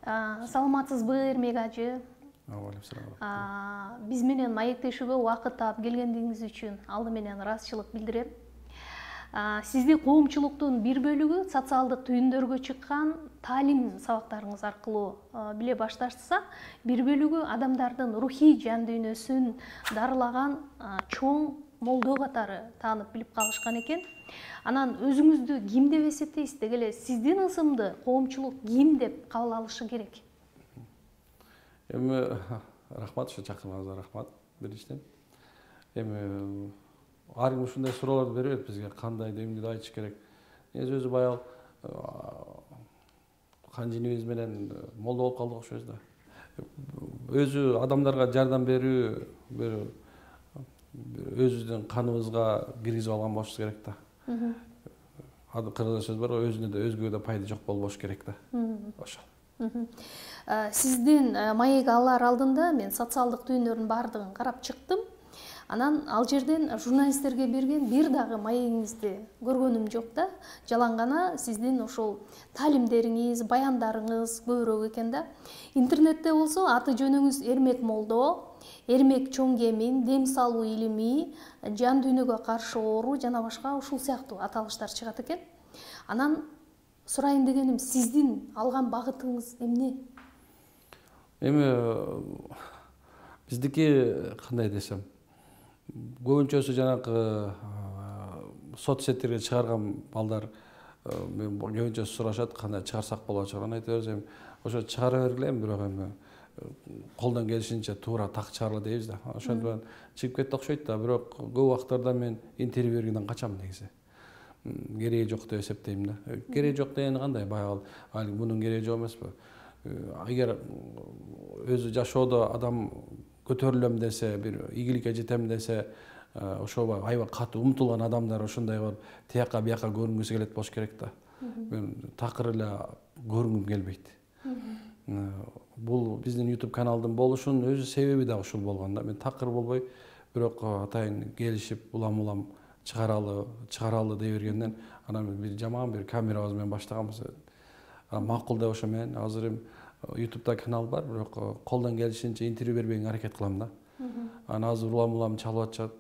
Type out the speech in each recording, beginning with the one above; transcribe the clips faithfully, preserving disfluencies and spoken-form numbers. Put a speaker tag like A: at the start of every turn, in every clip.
A: Саламатсызбы, Эрмек ажы? Биз менен маектешүүгө убакыт таап келгениңиз үчүн алды менен ыраазычылык билдирем. Сизди коомчулуктун бир бөлүгү социалдык түйүндөргө чыккан таалим сабактарыңыз аркылуу биле башташса, бир бөлүгү адамдардын рухий жан дүйнөсүн дарылаган чоң молдо катары таанып билип калышкан экен. Анан өзүңүздү ким деп эсептейсиз? Деги эле сиздин ысымды коомчулук ким деп кабыл алышы керек?
B: Эми рахмат, ушу чакырганыңызга рахмат биринчиден. Эми ар ким ушундай суроолорду бере берет бизге, кандай эмнеди айтыш керек. Негизи өзү баягы канжинибиз менен молдо болуп калдык окшойбуз да. Өзү адамдарга жардам берүү, бир өзүбүздүн каныбызга киргизип алган болушубуз керек да. Кыргызча сөз бар, өзүнө да өзгөгө да пайда жок болбош керек да. Ошол.
A: Сиздин маек алар алдында мен социалдык түйүндөрдүн баардыгын карап чыктым. Анан ал жерден журналисттерге берген бир дагы маегиңизди көргөнүм жок да. Жалаң гана сиздин ошол таалимдериңиз, баяндарыңыз көбүрөөк экен да. Интернетте болсо аты жөнүңүз Эрмек молдо, Эрмек чоң кемин, дем салуу илими, жан дүйнөгө каршы оору жана башка ушул сыяктуу аталыштар чыгат экен. Анан сурайын дегеним, сиздин алган багытыңыз эмне?
B: Эми биздики кандай десем, көбүнчөсү жанакы соцсеттерге чыгарган балдар мен көбүнчө сурашат, кандай чыгарсак болот, чыгарган айта берсем, ошо чыгара бергиле, бирок эми колдон келишинче туура так чыгарыла дейбиз да. Ошондо менен чыгып кетти окшойт да, бирок көп убактарда мен интервью бергенден качам негизи. Кереги жок деп эсептейм да. Кереги жок дегени кандай? Баягы мунун кереги жок эмеспи? Эгер өзү жашоодо адам көтөрүлөм десе, бир ийгиликке жетем десе, ошого аябай катуу умтулган адамдар ошондой кылып тияка бияка көрүнгүсү келет болуш керек да. Мен такыр эле көрүнгүм келбейт. Бул биздин YouTube каналдын болушунун өзү себеби да ушул болгон да. Мен такыр болбой, бирок атайын келишип улам-улам чыгаралы, чыгаралы дей бергенден, анан бир жаман бир камерабыз менен баштаганбыз. Макул деп ошо менен азыр эми YouTube'да канал бар, бирок колдон келишинче интервью бербегенге аракет кылам да. Анан азыр улам-улам чалып атышат,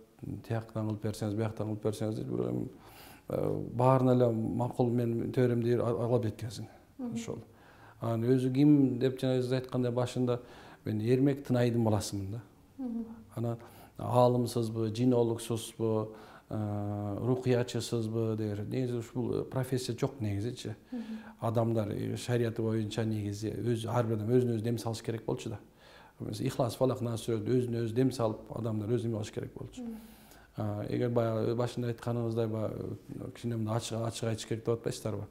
B: тияктан кылып берсеңиз, бияктан кылып берсеңиз дейт, бирок эми баарына эле макул мен төрөм дейт ала берет ошол. Анан өзү ким деп жана өзү айткандай башында мен Эрмек Тынайдын баласымын да. Анан аалымсызбы, жинологсузбу, рукуячысызбы дегер. Негизи ушул профессия жок негизичи. Адамдар шариаты боюнча негизи өз ар бир адам өзүнө өзү дем салыш керек болчу да. Ихлас, фалак, нас сүрөдү өзүнө өзү дем салып, адамдар өзү эме кылыш керек болчу. Эгер баягы башында айтканыңыздай кичине мындай ачык ачык айтыш керек деп атпайсыздарбы?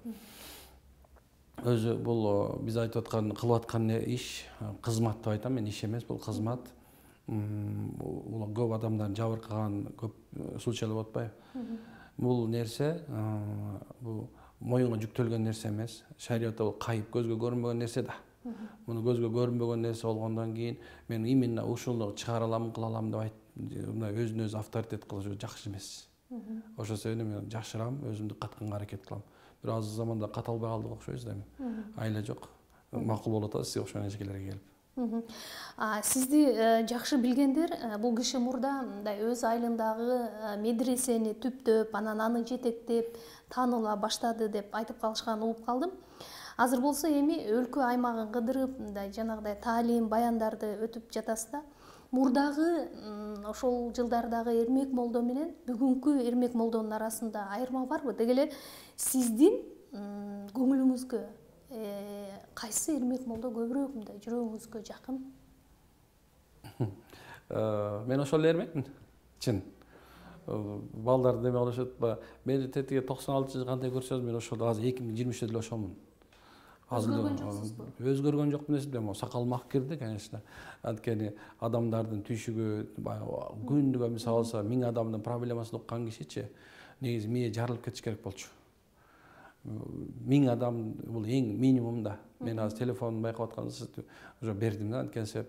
B: Өзү бул биз айтып аткан, кылып аткан иш, кызмат деп айтам мен, иш эмес, бул кызмат. Бул көп адамдардын жабыркаган көп случайлар болуп атпайбы? Бул нерсе, бул моюнга жүктөлгөн нерсе эмес. Шариятта бул кайып, көзгө көрүнбөгөн нерсе да. Муну көзгө көрүнбөгөн нерсе болгондон кийин мен именно ушуну чыгара алам, кыла алам деп айт, мындай өзүнө өзү авторитет кылыш жакшы эмес. Ошол себептен мен жакшырам, өзүмдү катканга аракет кылам. Бирок азыр заманда ката албай калдык окшойбуз да эми. Айла жок. Макул болуп атабыз сиз окшогон эжекелерге келип.
A: Сизди жакшы билгендер бул киши мурда мындай өз айылындагы медресени түптөп, анан аны жетектеп тааныла баштады деп айтып калышканын угуп калдым. Азыр болсо эми өлкө аймагын кыдырып, мындай жанагыдай таалим, баяндарды өтүп жатасыз да. Мурдагы ошол жылдардагы Эрмек молдо менен бүгүнкү Эрмек молдонун арасында айырма барбы? Деги эле сиздин көңүлүңүзгө кайсы Эрмек молдо көбүрөөк мындай жүрөгүңүзгө жакын?
B: Мен ошол Эрмекмин. Чын. Балдар деме кылышат, мени тетиги токсон алтынчы жылы кандай көрсөңүз, мен ошол азыр эки миң жыйырма үчтө деле ошолмун.
A: Өзгөргөн жоксузбу?
B: Өзгөргөн жокмун эсептейм, сакал мак кирди, конечно. Анткени адамдардын түйшүгү күндүгө мисалы алса миң адамдын проблемасын уккан кишичи негизи мээ жарылып кетиш керек болчу. Миң адам бул эң минимум да. Мен азыр телефонду байкап атканда уже бердим да, анткени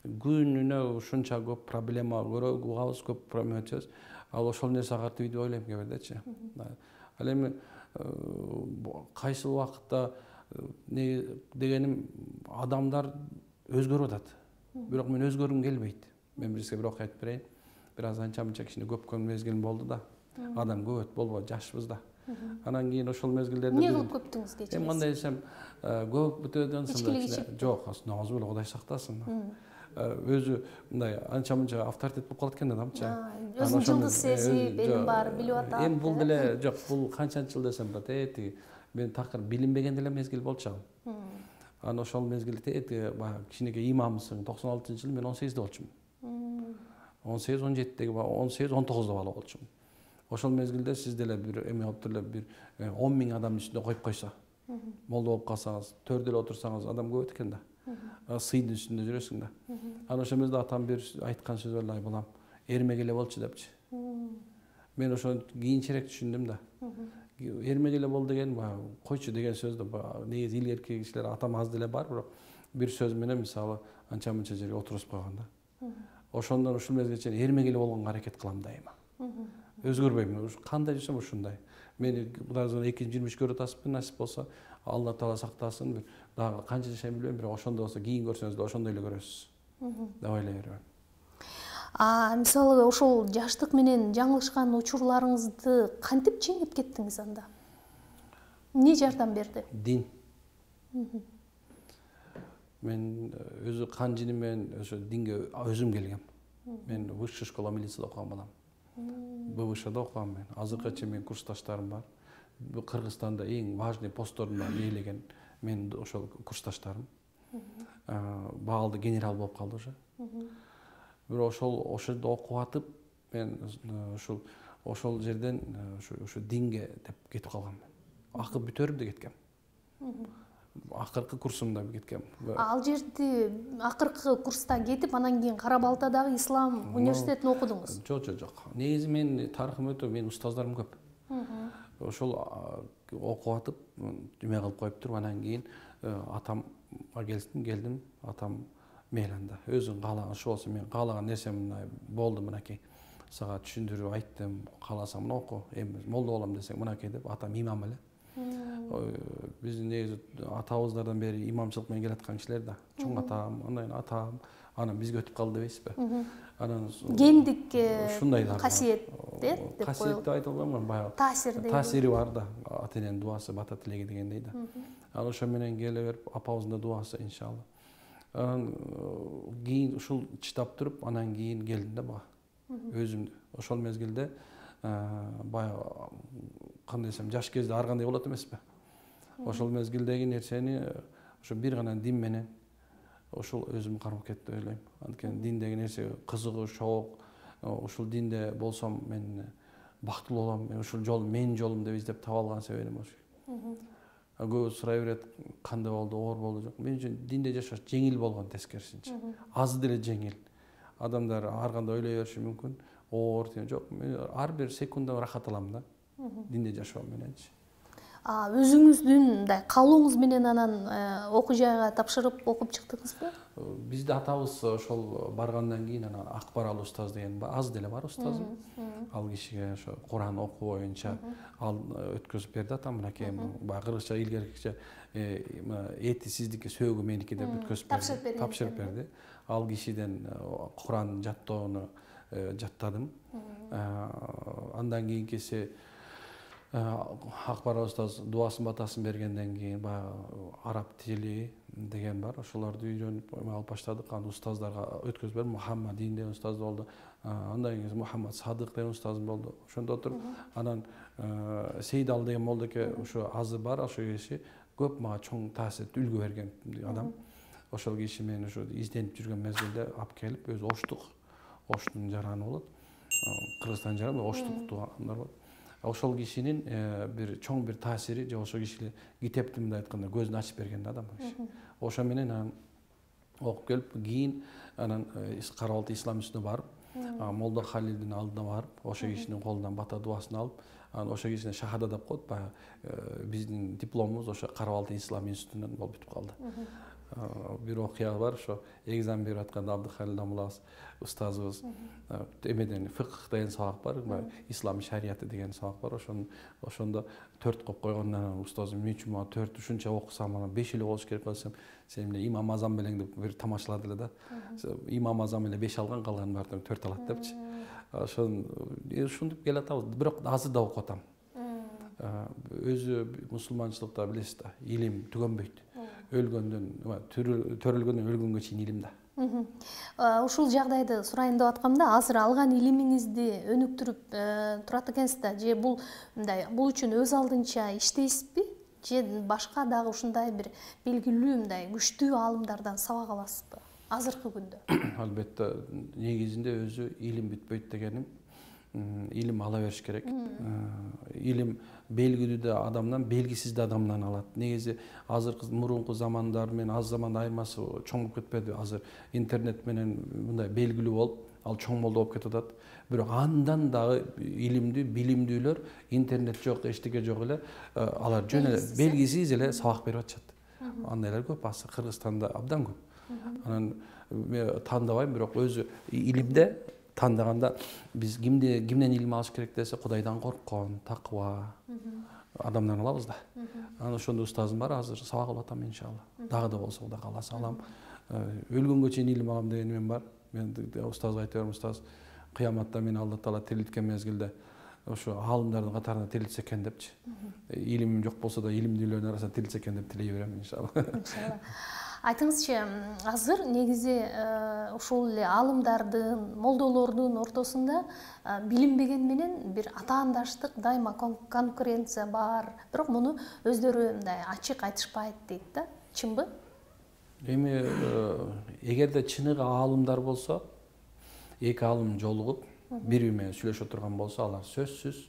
B: күнүнө ушунча көп проблема көрөбүз, угабыз, көп проблема өтөбүз. Ал ошол нерсе катты видео ойлойм кээ бирдечи. Ал эми кайсы убакытта не дегеним адамдар өзгөрүп атат. Бирок мен өзгөргүм келбейт. Мен бир сизге бир окуя айтып берейин. Бир аз анча мынча кичине көпкөн мезгилим болду да. Адам көп болбойт, жашпыз да. Анан кийин ошол мезгилдерде
A: эмне кылып көптүңүз кечиресиз?
B: Эми кандай десем, көп бүтөдөн
A: ичкилик ичип?
B: Жок, намаз беле Кудай сактасын. Өзү мындай анча мынча авторитет болуп калат экен адамчы.
A: Өзүн жылдыз сезип, элин баары билип атат.
B: Эми бул деле жок, бул канчанчы жыл десем болот, э тиги мен такыр билинбеген деле мезгил болчу ал. Анан ошол мезгилде тиги баягы кичинекей имамсың, токсон алтынчы жылы мен он сегизде болчумун. он сегиз он жетидеги он сегиз он тогузда бала болчумун. Ошол мезгилде сиз деле бир эме болуп эле бир он миң адамдын ичинде коюп койсо, молдо болуп калсаңыз, төрдө эле отурсаңыз адам көп экен да. Сыйдын үстүндө жүрөсүң да. Анан ошол мезгилде атам бир айткан сөзү бар, балам, эрмек эле болчу депчи. Мен ошону кийинчерээк түшүндүм да. Эрмек эле бол деген баягы койчу деген сөздү негизи илгерки кишилер атам аз деле бар, бирок бир сөз менен мисалы анча мынча жерге отургузуп койгон да. Ошондон ушул мезгилге чейин эрмек эле болгонго аракет кылам дайыма. Өзгөрбөйм. Кандай жүрсөм ушундай. Мени Кудайдан эки миң жыйырма үч көрүп атасызбы, насип болсо, Алла Таала сактасын. Бир дагы канча жашайм билбейм, бирок ошондой болсо кийин көрсөңүз да ошондой эле көрөсүз деп ойлой берем.
A: А мисалы ошол жаштык менен жаңылышкан учурларыңызды кантип жеңип кеттиңиз анда? Эмне жардам берди?
B: Дин. Мен өзү кан жини менен ошо динге өзүм келгем. Мен высшая школа милицияда окуган балам. Б В Шда окугам мен. Азыркыча менин курсташтарым бар. Кыргызстанда эң важный посттордун ээлеген мен ошол курсташтарым. Баалды генерал болуп калды уже. Бирок ошол ошол жерде окуп атып, мен ушул ошол жерден ошо динге деп кетип калгам мен. Акыр бүтөрүп да кеткем. Акыркы курсумда кеткем.
A: Ал жерде акыркы курста кетип, анан кийин Кара Балтадагы Ислам университетин окудуңуз?
B: Жок, жок, жок. Негизи мен тарыхым өтө, менин устаздарым көп. Ошол окуп атып, эме кылып коюп туруп, анан кийин атамга келдим, келдим, атам мейли анда. Өзүң каалаган ушу болсо, мен каалаган нерсем мындай болду, мынакей. Сага түшүндүрүп айттым, кааласаң мына оку, эми молдо болом десең мынакей деп, атам имам эле. Биздин негизи атабыздардан бери имамчылык менен келаткан кишилер да. Чоң атам, андан атам, анан бизге өтүп калды дебейсизби? Анан
A: гендик
B: ушундай да
A: касиет деп коюлат.
B: Касиет деп айта албайм, баягы
A: таасир дейби.
B: Таасири бар да, ата эненин дуасы бата тилеги дегендей да. Анан ошо менен келе берип, апабыздын да дуасы иншалла. Анан кийин ушул чыдап туруп, анан кийин келдим да буга. Өзүм ошол мезгилде баягы кандай десем, жаш кезде ар кандай болот эмеспи? Ошол мезгилдеги нерсени ошо бир гана дин менен ошол өзүм кармап кетти деп ойлойм. Анткени диндеги нерсе кызыгуу, шоок, ушул динде болсом мен бактылуу болом, мен ушул жол менин жолум деп издеп таба алган себебим ошо. Көбү сурай берет, кандай болду, оор болду, жок. Мен үчүн динде жашаш жеңил болгон, тескерисинче. Аз деле жеңил. Адамдар ар кандай ойлой бериши мүмкүн. Оор деген жок. Мен ар бир секундда рахат алам да. Динде жашоо мененчи.
A: А өзүңүздүн мындай каалооңуз менен анан окуу жайга тапшырып окуп чыктыңызбы?
B: Бизде атабыз ошол баргандан кийин анан Акбаралы устаз деген аз деле бар устазым. Ал кишиге ошо Куран окуу боюнча ал өткөзүп берди атам, мынакей баягы кыргызча илгеркиче эти сиздики, сөөгү меники деп өткөзүп берди. Тапшырып берди. Ал кишиден Куран жаттоону жаттадым. Андан кийинкиси Акбар устаз дуасын батасын бергенден кийин баягы араб тили деген бар. Ошолорду үйрөнүп алып баштадык. Аны устаздарга өткөзүп бердим. Мухаммадин деген устаз болду. Андан кийин Мухаммад Садык деген устазым болду. Ошондо отуруп, анан Сейдал деген молдоке ошо азыр бар, ошол киши көп мага чоң таасир, үлгү берген адам. Ошол киши мен ошо изденип жүргөн мезгилде алып келип, өзү Оштук, Оштун жараны болот. Кыргызстан жараны, Оштук туугандар болот. Ошол кишинин бир чоң бир таасири, же ошол киши китепти мындай айтканда көзүн ачып берген адам. Ошо менен анан окуп келип, кийин анан Кара Балта ислам үстүнө барып, Молдо Халилдин алдына барып, ошо кишинин колунан бата дуасын алып, анан ошо кишине шахада деп коет, баягы биздин дипломубуз ошо Кара Балта ислам институтунан болуп бүтүп калды. бир окуя бар. Ошо экзамен берип атканда Абдыхалил Дамулабыз устазыбыз эмеден фикх деген сабак бар, ислам шарияты деген сабак бар. Ошону ошондо төрт коюп койгондон анан устазым эмне үчүн мага төрт ушунча окусам анан беш эле болуш керек десем, сен эле имам Азам белең деп бир тамашалады эле да. Имам Азам эле беш алган, калганын баардыгын төрт алат депчи. Ошон ушинтип келатабыз. Бирок азыр да окуп атам. Өзү мусулманчылыкта билесиз да, илим түгөнбөйт. Өлгөндөн, төрөлгөндөн өлгөнгө чейин илим да.
A: Ушул жагдайды сурайын деп аткам да, азыр алган илимиңизди өнүктүрүп турат экенсиз да, же бул мындай бул үчүн өз алдынча иштейсизби, же башка дагы ушундай бир белгилүү мындай күчтүү аалымдардан сабак аласызбы азыркы күндө?
B: Албетте, негизинде өзү илим бүтпөйт дегеним, илим ала бериш керек. Илим белгилүү да адамдан, белгисиз да адамдан алат. Негизи азыркы мурунку замандар менен аз заманда айырмасы чоң болуп кетпеди. Азыр интернет менен мындай белгилүү болуп, ал чоң болду болуп кетип атат. Бирок андан дагы илимдүү, билимдүүлөр интернет жок, эчтеке жок эле, алар жөн эле белгисиз эле сабак берип атышат. Андайлар көп, азыр Кыргызстанда абдан көп. Анан мен тандабайм, бирок өзү илимде тандаганда биз кимде кимден илим алыш керек десе, Кудайдан корккон, такыба адамдан алабыз да. Анан ошондо устазым бар, азыр сабак алып атам иншалла. Дагы да болсо Кудай кааласа алам. Өлгөнгө чейин илим алам деген мен бар. Мен устазга айта берем, устаз, кыяматта мени Алла Таала тирилткен мезгилде ошо аалымдардын катарына тирилтсе экен депчи. Илимим жок болсо да илимдүүлөрдүн арасына тирилтсе экен деп тилей берем иншалла.
A: Иншалла. Айтыңызчы, азыр негизи ушул эле аалымдардын, молдолордун ортосунда билинбеген менен бир атаандаштык, дайыма конкуренция бар. Бирок муну өздөрү мындай ачык айтышпайт дейт да. Чынбы?
B: Эми эгерде чыныгы аалымдар болсо, эки аалым жолугуп, бири менен сүйлөшө турган болсо, алар сөзсүз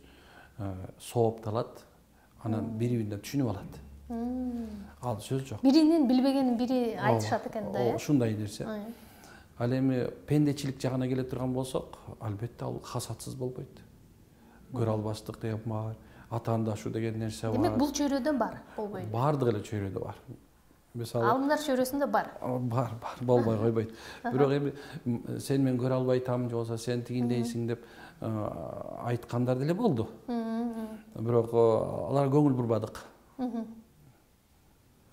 B: соопталат, анан бири-бирине түшүнүп алат. Ал сөз жок.
A: Биринин билбегенин бири айтышат экен да, э?
B: Ушундай нерсе. Ал эми пендечилик жагына келе турган болсок, албетте ал хасатсыз болбойт. Көрө албаштык деген бар, атаандашуу деген нерсе бар.
A: Демек бул чөйрөдө бар, болбойбу?
B: Бардык эле чөйрөдө бар.
A: Мисалы, аалымдар чөйрөсүндө бар.
B: Бар, бар, болбой койбойт. Бирок эми сен мен көрө албайтам, же болбосо сен тигиндейсиң деп айткандар деле болду. Бирок аларга көңүл бурбадык.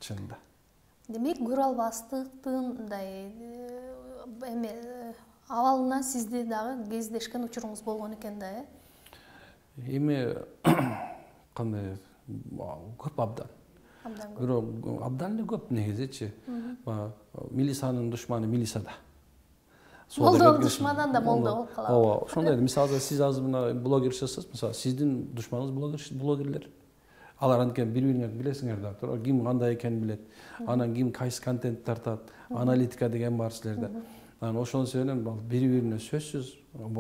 B: Чында.
A: Демек, көрө албастыктын мындай эме абалына сизди дагы кездешкен учуруңуз болгон экен да, э?
B: Эми кандай көп абдан.
A: Абдан көп.
B: Бирок абдан эле көп негизичи. Милисанын душманы милисада.
A: Молдонун душманынан да молдо болуп калат.
B: Ооба, ошондой. Мисалы, сиз азыр мына блогерчисиз, мисалы, сиздин душманыңыз блогерлер. Алар анткени бири-бириңерди билесиңер да, туура, ким кандай экенин билет. Анан ким кайсы контент тартат, аналитика деген бар силерде. Анан ошонун себебинен бири-бирине сөзсүз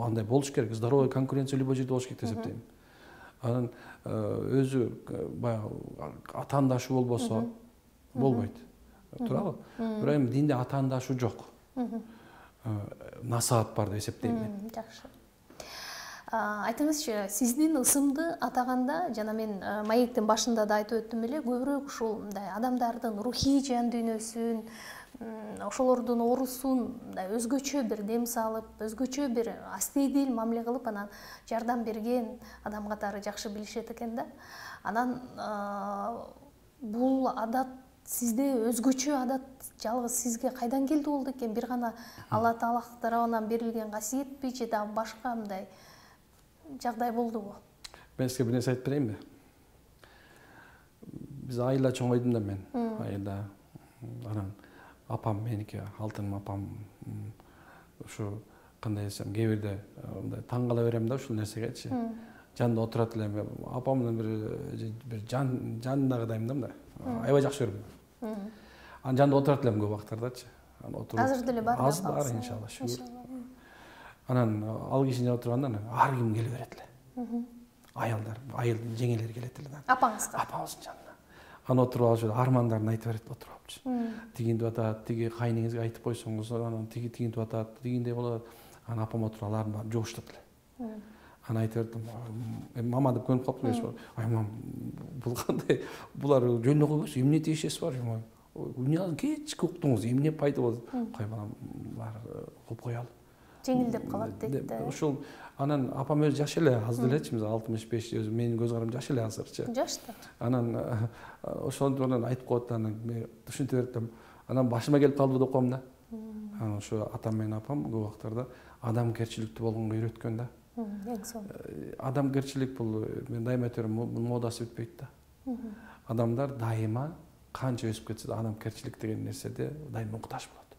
B: андай болуш керек, здоровый конкуренция любой жерде болуш керек деп эсептейм. Анан өзү баягы атаандашуу болбосо болбойт. Туурабы? Бирок эми динде атаандашуу жок. Насаат бар деп эсептейм мен.
A: Жакшы. Айтыңызчы, сиздин ысымды атаганда, жана мен маектин башында да айтып өттүм эле, көбүрөөк ушул мындай адамдардын рухий жан дүйнөсүн, ошолордун оорусун мындай өзгөчө бир дем салып, өзгөчө бир астейдил мамиле кылып, анан жардам берген адам катары жакшы билишет экен да. Анан бул адат сизде өзгөчө адат жалгыз сизге кайдан келди болду экен? Бир гана Алла Таала тарабынан берилген касиетпи, же дагы башка мындай жагдай болдубу?
B: Мен сизге бир нерсе айтып берейинби? Биз айылда чоңойдум да мен. Айылда. Анан апам меники, алтыным апам ушу кандай десем, кээ бирде мындай таң кала берем да ушул нерсегечи. Жанында отурат элем. Апам менен бир бир жан жанындагыдаймын да мындай. Аябай жакшы көрөм. Анан жанында отурат элем көп убактардачы.
A: Азыр деле бар.
B: Азыр бар иншалла. Анан ал кишинин жанында отурганда ар ким келе берет эле. Аялдар, айылдын жеңелери келет эле да.
A: Апаңызга?
B: Апамыздын жанына. Анан отуруп алып армандарын айтып берет, отуруп алыпчы. Тигинтип атат, тиги кайныңызга айтып койсоңуз, анан тиги тигинтип атат, тигиндей болот. Анан апам отуруп аларын баарын жугуштат эле. Анан айтып бердим, мама деп көнүп калыптыр. Ай мам, бул кандай? Булар жөн эле койбойсу, эмне тиешеси бар? кечки уктуңуз, эмне пайда болду? Кой балам, бар окуп коелу.
A: Жеңилдеп калат дейт да.
B: Ошол анан апам өзү жаш эле, аз делечи, алтымыш беш, өзү менин көз карам жаш эле азырчы.
A: Жаш да.
B: Анан ошондо анан айтып коет, анан мен түшүнтүп берип, анан башыма келип калды деп коем да. Анан ошо атам менен апам көп убактарда адамгерчиликтүү болгонго үйрөткөн да.
A: Эң сонун.
B: Адамгерчилик бул, мен дайыма айтып берем, модасы бүтпөйт да. Адамдар дайыма канча өсүп кетсе да адамгерчилик деген нерседе дайыма муктаж болот.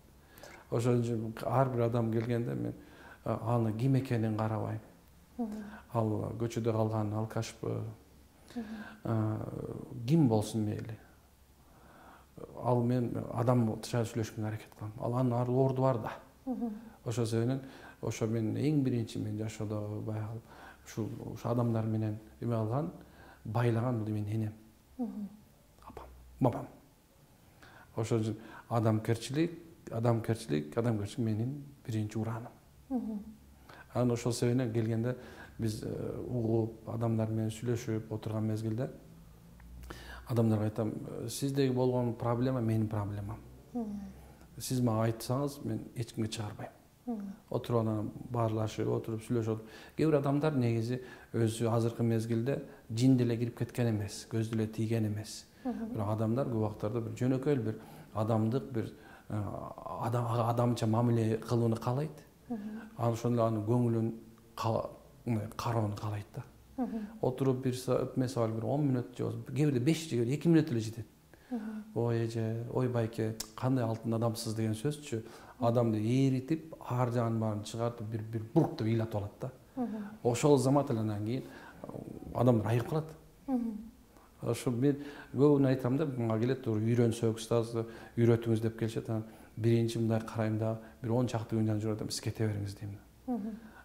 B: Ошон үчүн ар бир адам келгенде мен аны ким экенин карабайм. Ал көчөдө калган алкашпы, ким болсун мейли. Ал мен адамча сүйлөшкөнгө аракет кылам. Ал анын ар орду бар да. Ошол себептен ошо мен эң биринчи мен жашоодо баягы ушул адамдар менен эме алган, байлаган бул менин энем. Апам, бабам. Ошол үчүн адамгерчилик, адамгерчилик, адамгерчилик менин биринчи ураным. Анан ошол себептен келгенде биз угуп, адамдар менен сүйлөшүп отурган мезгилде адамдарга айтам, сиздеги болгон проблема менин проблемам. Сиз мага айтсаңыз, мен эч кимге чыгарбайм. Отуруп анан баарлашып, отуруп сүйлөшүп. Кээ бир адамдар негизи өзү азыркы мезгилде жин деле кирип кеткен эмес, көз деле тийген эмес. Бирок адамдар көп убактарда бир жөнөкөй бир адамдык бир адамча мамиле кылууну каалайт. Ал ошондо анын көңүлүн кароону каалайт да. Отуруп бир мисалы бир он мүнөт же кээ бирде беш же эки мүнөт эле жетет. Ой эже, ой байке, кандай алтын адамсыз деген сөзчү адамды эритип, ар жагын баарын чыгартып бир бир бурк деп ыйлатып алат да. Ошол замат эле анан кийин адамдар айыгып калат. Ошо мен көбүнө айтам да, мага келет, үйрөнсөк, устаз үйрөтүңүз деп келишет. Анан биринчи мындай карайм да, бир он чакты күндөн жүрөт, сиз кете бериңиз дейм.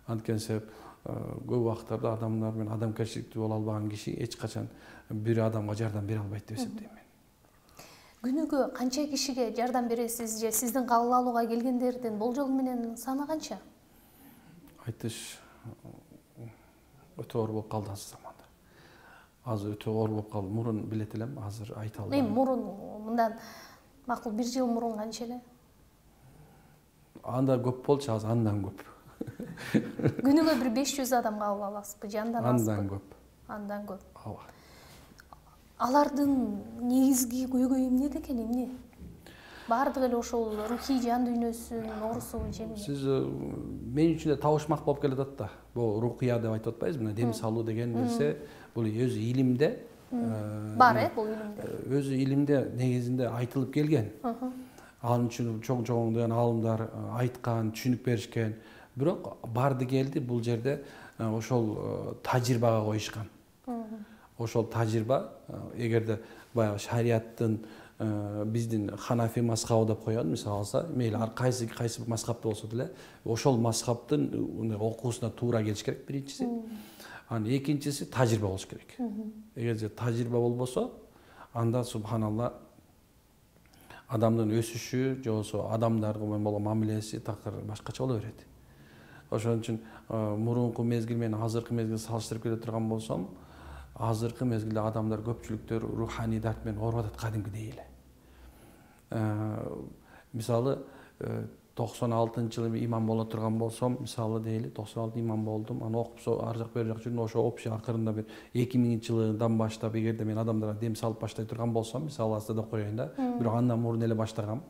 B: Анткени себеп көп убактарда адамдар менен адамгерчиликтүү боло албаган киши эч качан бир адамга жардам бере албайт деп эсептейм мен.
A: Күнүгө канча кишиге жардам бересиз же сиздин кабыл алууга келгендердин болжол менен саны канча? Айтыш
B: өтө оор болуп калды азыр заманда. Азыр өтө оор болуп калды. Мурун билет элем, азыр айта албайм.
A: Эми мурун мындан макул бир жыл мурун канча эле?
B: Анда көп болчу, азыр андан көп.
A: Күнүгө бир беш жүз адам кабыл аласызбы же андан азбы?
B: Андан көп.
A: Андан көп.
B: Ооба.
A: Алардын негизги көйгөйү эмнеде экен, эмне? Баардыгы эле ошол рухий жан дүйнөсүн оорусубу же эмне?
B: Сиз мен үчүн да табышмак болуп келатат да. Бул рухия деп айтып атпайбызбы? Мына дем салуу деген нерсе бул өзү илимде
A: бар, э, бул илимде.
B: Өзү илимде негизинде айтылып келген. Анын үчүн чоң-чоң аалымдар айткан, түшүнүп беришкен. Бирок барды келди бул жерде ошол тажрыйбага коюшкан. Ошол тажрыйба эгерде баягы шариаттын биздин ханафи мазхабы деп коён, мисалы алса, мейли ар кайсы кайсы мазхабты болсо деле, ошол мазхабтын окуусуна туура келиш керек биринчиси. Анан экинчиси тажрыйба болуш керек. Эгерде тажрыйба болбосо, анда субханалла адамдын өсүшү же болбосо адамдарга болгон мамилеси такыр башкача боло берет. Ошон үчүн мурунку мезгил менен азыркы мезгилди салыштырып келе турган болсом, азыркы мезгилде адамдар көпчүлүктөр руханий дарт менен ооруп атат кадимкидей эле. Мисалы токсон алтынчы жылы имам боло турган болсом, мисалы дейли, токсон алты имам болдум, аны окуп ар жак бер жак жүрдүм, ошо общий акырында бир эки миңинчи жылдан баштап эгерде мен адамдарга дем салып баштай турган болсом, мисалы алса деп коеюн да, бирок андан мурун эле баштагам.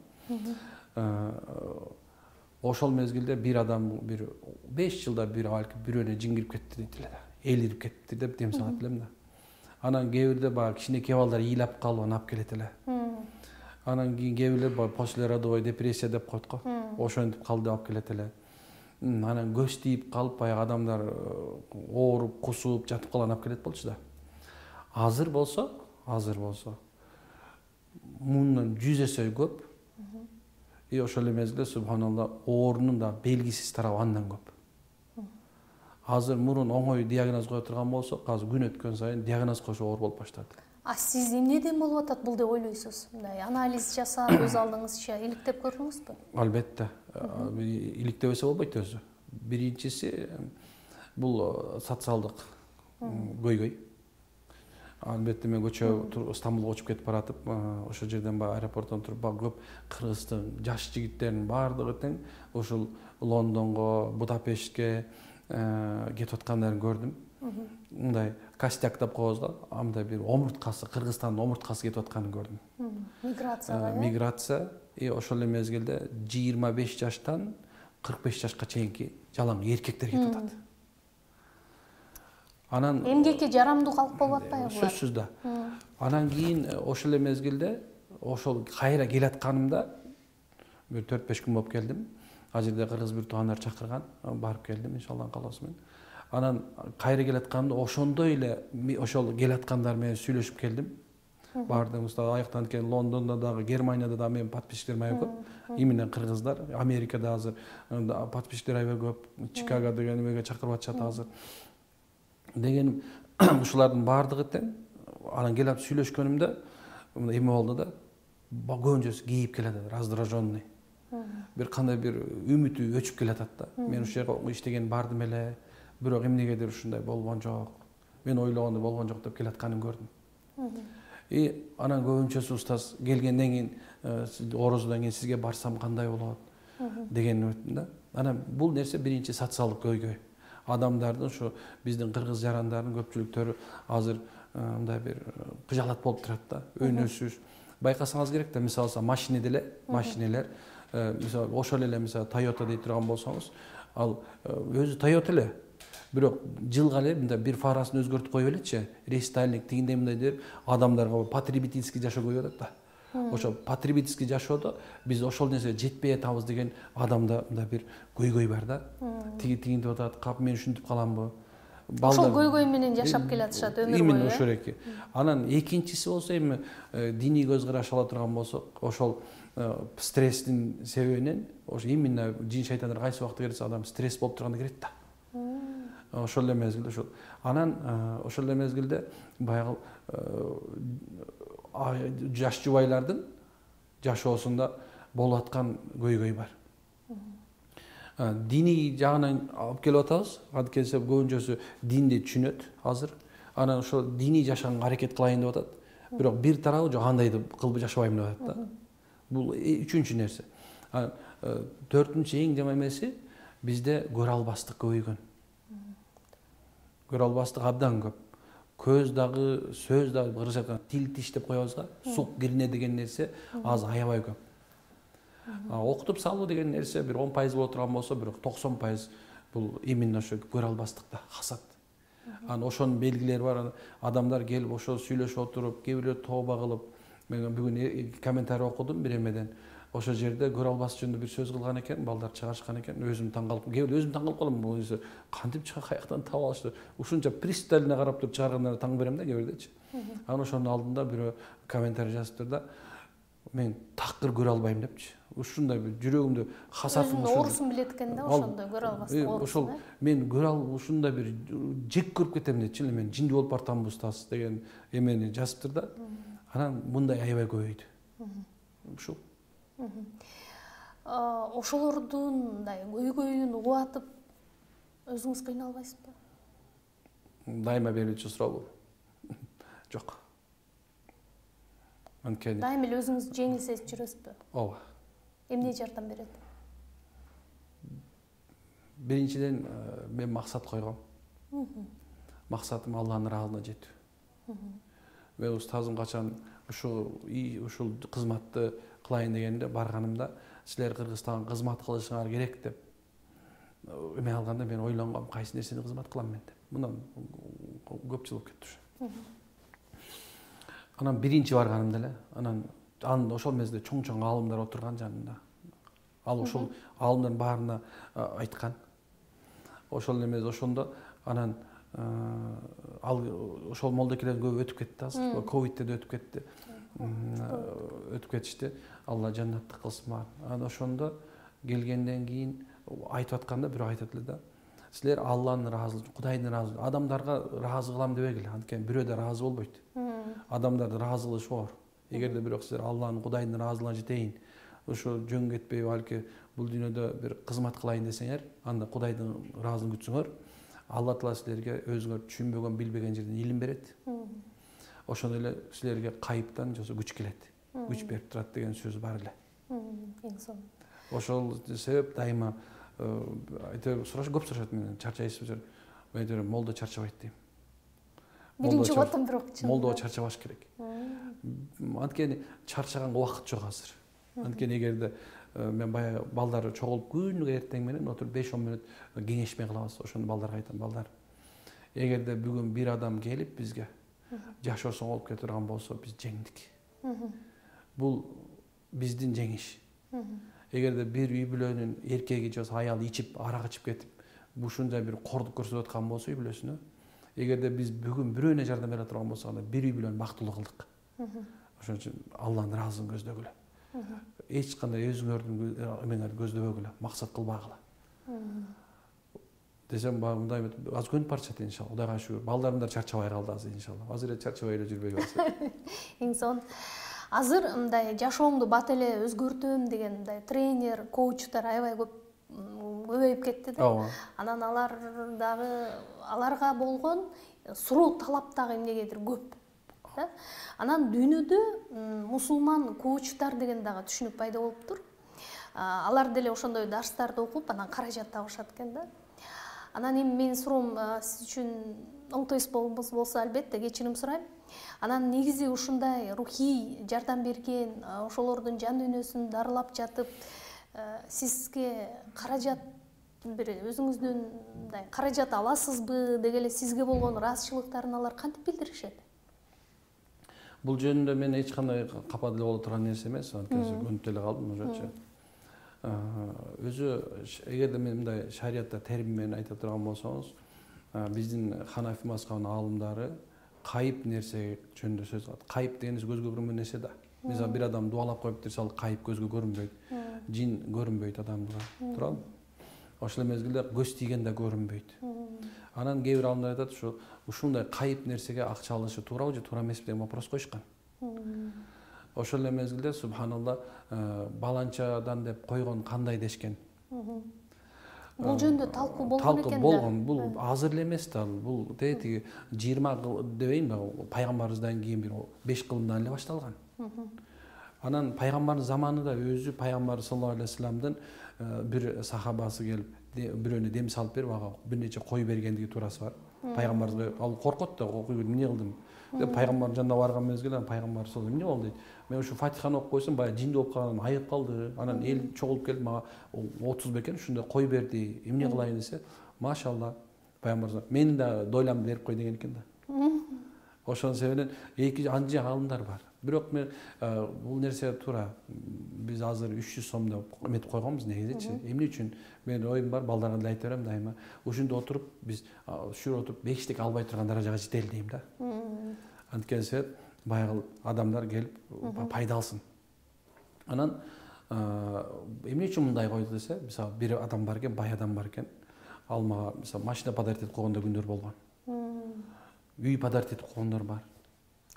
B: Ошол мезгилде бир адам бир беш жылда бир балки бирөөнө жин кирип кетти дейт эле да. Элирип кетти деп дем салат элем да. Анан кээ бирде баягы кичинекей балдар ыйлап калып анан алып келет эле. Анан кийин кээ бирлер после родовой депрессия деп коет го. Ошентип калды деп алып келет эле. Анан көз тийип калып баягы адамдар ооруп, кусуп жатып калган алып келет болчу да. Азыр болсо, азыр болсо мундан жүз эсе көп. И ошол эле мезгилде субханалла оорунун да белгисиз тарабы андан көп. Азыр мурун оңой диагноз кое турган болсок, азыр күн өткөн сайын диагноз коюшу оор болуп баштады.
A: А сиз эмнеден болуп атат бул деп ойлойсуз? Мындай анализ жасап, өз алдыңызча иликтеп көрдүңүзбү?
B: Албетте. Иликтеп эсе болбойт өзү. Биринчиси бул социалдык көйгөй. албетте мен көчө Стамбулга учуп кетип баратып, ошол жерден баягы аэропорттон туруп баягы көп кыргыздын жаш жигиттеринин баардыгы тең ушул Лондонго, Будапештке кетип аткандарын көрдүм. Мындай костяк деп коебуз да, андай бир омурткасы, Кыргызстандын омурткасы кетип атканын көрдүм.
A: Миграцияга,
B: миграция, и ошол эле мезгилде жыйырма беш жаштан кырк беш жашка чейинки жалаң эркектер кетип атат. Анан
A: эмгекке жарамдуу калып болуп атпайбы булар?
B: Сөзсүз да. Анан кийин ошол эле мезгилде ошол кайра келатканымда бир төрт беш күн болуп келдим. Ал жерде кыргыз бир туугандар чакырган, барып келдим иншалла каласы менен. Анан кайра келатканымда ошондой эле ошол келаткандар менен сүйлөшүп келдим. Баардыгыбыз да аяктан келген Лондондо дагы, Германияда да менин подписчиктерим аябай көп. Именно кыргыздар, Америкада азыр подписчиктер аябай көп, Чикаго деген эмеге чакырып атышат азыр. Дегеним ушулардын баардыгы тең. Анан келип сүйлөшкөнүмдө эме болду да, көбүнчөсү кейип келатат, раздраженный. Бир кандай бир үмүтү өчүп келатат да. Мен ушул жерге иштеген бардым эле, бирок эмнегедир ушундай болгон жок. Мен ойлогондой болгон жок деп келатканын көрдүм. И анан көбүнчөсү устаз келгенден кийин, орозодон кийин сизге барсам кандай болот деген өттүм да. Анан бул нерсе биринчи социалдык көйгөй. Адамдардын ушу биздин кыргыз жарандардын көпчүлүктөрү азыр мындай бир кыжалат болуп турат да. Өнөсүз. Байкасаңыз керек да, мисалы машина деле, машинелер, мисалы ошол эле мисалы Toyota дей турган болсоңуз, ал өзү Toyota эле. Бирок жылга эле мындай бир фарасын өзгөртүп коюп элечи, рестайлинг тигиндей мындай деп адамдарга потребительский жашоо коюп атат да. Ошо потребительский жашоодо биз ошол нерсеге жетпей атабыз деген адамда мындай бир көйгөй бар да. Тиги тигинтип атат, кап мен ушинтип каламбы?
A: Ошол көйгөй менен жашап келатышат өмүр бою.
B: Именно ошол эки. Анан экинчиси болсо эми диний көз караш ала турган болсок, ошол стресстин себебинен, ошо именно жин шайтандар кайсы убакта келсе адам стресс болуп турганда келет да. Ошол эле мезгилде ошол. Анан ошол эле мезгилде баягы жаш жубайлардын жашоосунда болуп аткан көйгөй бар. Диний жагынан алып келип атабыз. Анткени көбүнчөсү динди түшүнөт азыр. Анан ошол диний жашаганга аракет кылайын деп атат. Бирок бир тарабы жок, андайды кылып жашабайм деп атат да. Бул үчүнчү нерсе. Төртүнчү эң жаман эмеси бизде көрө албастык көбөйгөн. Көрө албастык абдан көп. Көз дагы, сөз дагы, кыргызча айтканда тил тиш деп коебуз да. Сук кирине деген нерсе азыр аябай көп. Окутуп салуу деген нерсе бир он пайыз боло турган болсо, бирок токсон пайыз бул именно ошо көрө албастыкта, хасат. Анан ошонун белгилери бар. Адамдар келип ошо сүйлөшүп отуруп, кээ бирлер тооба кылып, мен бүгүн комментарий окудум бир эмеден. Ошол жерде көрө албастык жөнүндө бир сөз кылган экен, балдар чыгарышкан экен. Өзүм таң калып, кээ бир өзүм таң калып калам. Бул нерсе кантип чыга, каяктан таап алышты? Ушунча пристально карап туруп чыгаргандарына таң берем да, кээ бирлерчи. Анан ошонун алдында бирөө комментарий жазыптыр да, мен такыр көрө албайм депчи. Ушундай бир жүрөгүмдө хасатым
A: ушул. Оорусун билет экен да, ошондой көрө албастык оорусун.
B: Ошол мен көрө ал ушундай бир жек көрүп кетем депчи, мен жинди болуп бартамбы устаз деген эмени жазыптыр да. Анан мындай аябай көбөйдү. Ушул.
A: Ошолордун мындай көйгөйүн угатып өзүңүз кыйналбайсызбы?
B: Дайыма берүүчү суроо бул. Жок. Анткени
A: дайыма эле өзүңүз жеңил сезип жүрөсүзбү?
B: Ооба.
A: Эмне жардам берет?
B: Биринчиден мен максат койгом. Максатым Алланын ыраазылыгына жетүү. Мен устазым качан ушул ушул кызматты кылайын дегенде барганымда, силер Кыргызстанга кызмат кылышыңар керек деп эме алганда мен ойлонгом, кайсы нерсени кызмат кылам мен деп. Мындан көп жыл болуп кетти ушу. Анан биринчи барганымда эле, анан аны ошол мезгилде чоң-чоң аалымдар отурган жанында. Ал ошол аалымдардын баарына айткан. Ошол эмес ошондо анан ал ошол молдокелердин көбү өтүп кетти азыр. Ковидте да өтүп кетти. Өтүп кетишти. Алла жаннаттык кылсын баарын. Анан ошондо келгенден кийин айтып атканда бирөө айтат эле да. Силер Алланын ыраазылыгы, Кудайдын ыраазылыгы, адамдарга ыраазы кылам дебегиле. Анткени бирөө да ыраазы болбойт. Адамдарды ыраазы кылыш оор. Эгерде бирок силер Алланын, Кудайдын ыраазылыгына жетейин, ошо жөн кетпей балки бул дүйнөдө бир кызмат кылайын десеңер, анда Кудайдын ыраазылыгын күтсөңөр, Алла Таала силерге өзүңөр түшүнбөгөн, билбеген жерден илим берет. ошондой эле силерге кайыптан же күч келет, күч берип турат деген сөз бар эле.
A: Эң сонун.
B: Ошол себеп дайыма айтып сураш көп сурашат менен, чарчайсызбы? Мен айтам, молдо чарчабайт дейм.
A: Биринчи отун бирок чын.
B: Молдо чарчабаш керек. Анткени чарчаганга убакыт жок азыр. Анткени эгерде мен баягы балдар чогулуп күнүгө эртең менен отуруп беш он мүнөт кеңешме кылабыз. Ошону балдарга айтам, балдар. Эгерде бүгүн бир адам келип бизге жашоосун алып кете турган болсо, биз жеңдик. Бул биздин жеңиш. Эгерде бир үй бүлөнүн эркеги же аялы ичип, арак ичип кетип, ушундай бир кордук көрсөтүп аткан болсо үй бүлөсүнө, эгерде биз бүгүн бирөөнө жардам бере турган болсок, анда бир үй бүлөнү бактылуу кылдык. Ошон үчүн Алланын ыраазылыгын көздөгүлө. Эч кандай өзүңөрдүн эмеңерди көздөбөгүлө, максат кылбагыла. Десем, мындай аз күн парчат иншалла. Кудайга шүгүр. Балдарым да чарчабай калды азыр иншалла. Азыр эле чарчабай эле жүрбөй калса.
A: Эң сонун. Азыр мындай жашооңду бат эле өзгөртөм деген мындай тренер, коучтар аябай көп көбөйүп кетти да.
B: Ооба.
A: Анан алар дагы аларга болгон суроо талап дагы эмнегедир көп. Да? Анан дүйнөдө мусулман коучтар деген дагы түшүнүк пайда болуптур. Алар деле ошондой дарстарды окуп, анан каражат табышат экен да. Анан эми менин суроом сиз үчүн оңтой болсо албетте кечирим сурайм. Анан негизи ушундай рухий жардам берген, ошолордун жан дүйнөсүн дарылап жатып, сизге каражат бир өзүңүздүн мындай каражат аласызбы деги эле сизге болгон ыраазычылыктарын алар кантип билдиришет?
B: Бул жөнүндө мен эч кандай капа деле боло турган нерсе эмес, анткени көнүп деле калдым ошочу. Өзү эгерде мен мындай шариятта термин менен айта турган болсоңуз, биздин Ханафи мазхабынын аалымдары кайып нерсе жөнүндө сөз кылат. Кайып деген көзгө көрүнбөгөн нерсе да. Мисалы бир адам дуалап коюп турса, ал кайып көзгө көрүнбөйт. Жин көрүнбөйт адамга. Туурабы? Ошол мезгилде көз тийген да көрүнбөйт. Анан кээ бир аалымдар айтат, ушу ушундай кайып нерсеге акча алышы туурабы же туура эмеспи деген вопрос коюшкан. Ошол эле мезгилде субханалла баланчадан деп койгон кандай дешкен.
A: Бул жөнүндө талкуу болгон экен да.
B: Талкуу болгон. Бул азыр эле эмес да. Бул тетиги жыйырма дебейинби, пайгамбарыбыздан кийин бир беш кылымдан эле башталган. Анан пайгамбардын заманында өзү пайгамбар саллаллаху алейхи вассаламдын бир сахабасы келип, бирөөнө дем салып берип, ага бир нече кой бергендиги туурасы бар. Пайгамбарыбыз ал коркот да, эмне кылдым деп пайгамбардын жанына барган мезгилде пайгамбар саллаллаху алейхи эмне болду дейт. Мен ушу Фатиханы окуп койсом, баягы жинди болуп калган, айыгып калды. Анан эл чогулуп келип мага отуз бекен ушундай кой берди. Эмне кылайын десе, машалла пайгамбар мени да дойлам берип кой деген экен да. Ошонун себебинен эки анча аалымдар бар. Бирок мен бул нерсе туура. Биз азыр үч жүз сомдо эметип койгонбуз негизичи. Эмне үчүн? Менин оюм бар, балдарга деле айта берем дайыма. Ушунда отуруп биз ушул отуруп бештик албай турган даражага жетели дейм да. Анткени себеп баягы адамдар келип пайда алсын. Анан эмне үчүн мындай койду десе, мисалы бир адам бар экен, бай адам бар экен. Ал мага мисалы машина подарить этип койгондор күндөр болгон. Үй подарить этип койгондор бар.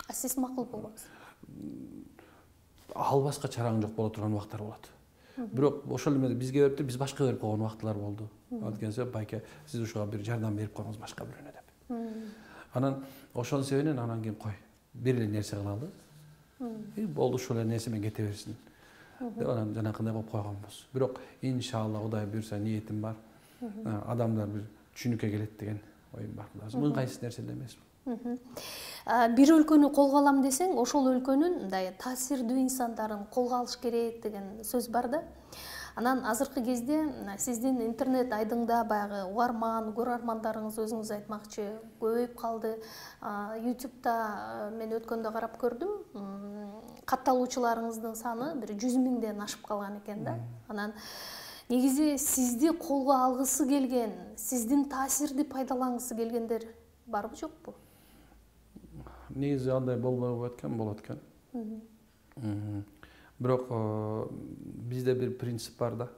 A: А сиз макул болбосуз?
B: Албаска чараң жок боло турган убактар болот. Бирок ошол эле бизге берип туруп, биз башка берип койгон убактылар болду. Анткени себеп байке сиз ушуга бир жардам берип коюңуз башка бирөөнө деп. Анан ошонун себебинен анан кийин кой, бир эле нерсе кылалы. И болду, ушул эле нерсе менен кете берсин. Деп анан жанакындай кылып койгонбуз. Бирок иншалла Кудай буйрса ниетим бар. Адамдар бир түшүнүккө келет деген оюм бар. Мыйгайсыз нерсе эле эмес.
A: Бир өлкөнү колго алам десең, ошол өлкөнүн мындай таасирдүү инсандарын колго алыш керек деген сөз бар да. Анан азыркы кезде сиздин интернет айдыңда баягы угарман, көрөрмандарыңыз өзүңүз айтмакчы көбөйүп калды. ютубта мен өткөндө карап көрдүм. Катталуучуларыңыздын саны бир жүз миңден ашып калган экен да. Анан негизи сизди колго алгысы келген, сиздин таасирди пайдалангысы келгендер барбы жокпу?
B: Негизи андай болбой экен, болот экен. Бирок бизде бир принцип бар да.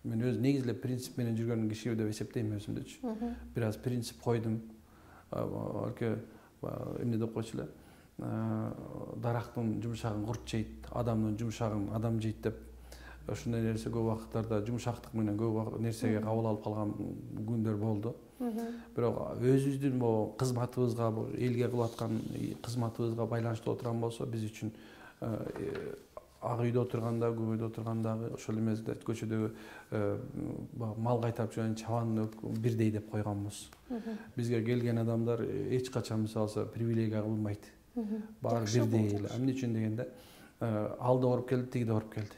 B: Мен өз негизи эле принцип менен жүргөн киши деп эсептейм өзүмдүчү. Бир аз принцип койдум. Алке эмне деп койчу эле? Дарактын жумшагын курт жейт, адамдын жумшагын адам жейт деп ушундай нерсе көп убакыттарда жумшактык менен көп нерсеге кабыл алып калган күндөр болду. Бирок өзүбүздүн могу кызматыбызга, элге кылып аткан кызматыбызга байланыштуу отурган болсо, биз үчүн ак үйдө отурганда, көк үйдө отургандагы ошол эмесде көчөдөгү мал кайтарып жүргөн чабан бирдей деп койгонбуз. Бизге келген адамдар эч качан мисалы привилегия кылынбайт. Баары бирдей эле. Эмне үчүн дегенде, ал да ооруп келди, тиги да ооруп келди.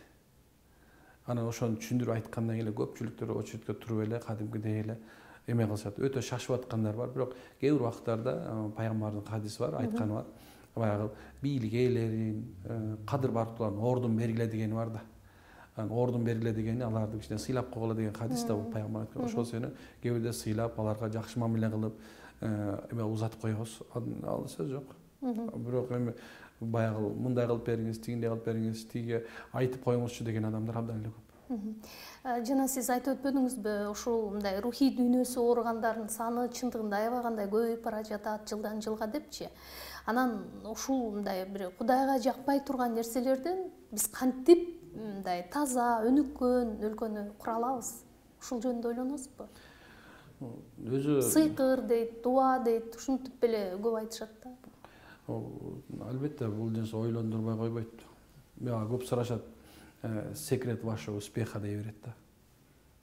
B: Анан ошону түшүндүрүп айткандан кийин көпчүлүктөр очередке туруп эле кадимкидей эле эме кылышат. Өтө шашып аткандар бар, бирок кээ бир убактарда пайгамбардын хадиси бар, айтканы бар. Баягы бийлик ээлерин, кадыр барктууларын ордун бергиле дегени бар да. Ордун бергиле дегени аларды кичине сыйлап койгула деген хадис да бул пайгамбар айткан. Ошол сени кээ бирде сыйлап, аларга жакшы мамиле кылып, эме узатып койгуз. Ал сөз жок. Бирок эми баягы мындай кылып бериңиз, тигиндей кылып бериңиз, тиге айтып коюңузчу деген адамдар абдан эле көп.
A: Жана сиз айтып өтпөдүңүзбү, ушул мындай рухий дүйнөсү ооругандардын саны чындыгында аябагандай көбөйүп бара жатат жылдан жылга депчи. Анан ушул мындай бир Кудайга жакпай турган нерселерден биз кантип мындай таза, өнүккөн өлкөнү кура алабыз? Ушул жөнүндө ойлоносузбу?
B: Өзү
A: сыйкыр дейт, дуа дейт, ушинтип эле көп айтышат да.
B: Албетте, бул нерсе ойлондурбай койбойт. Мага көп сурашат, секрет вашего успеха дей берет да.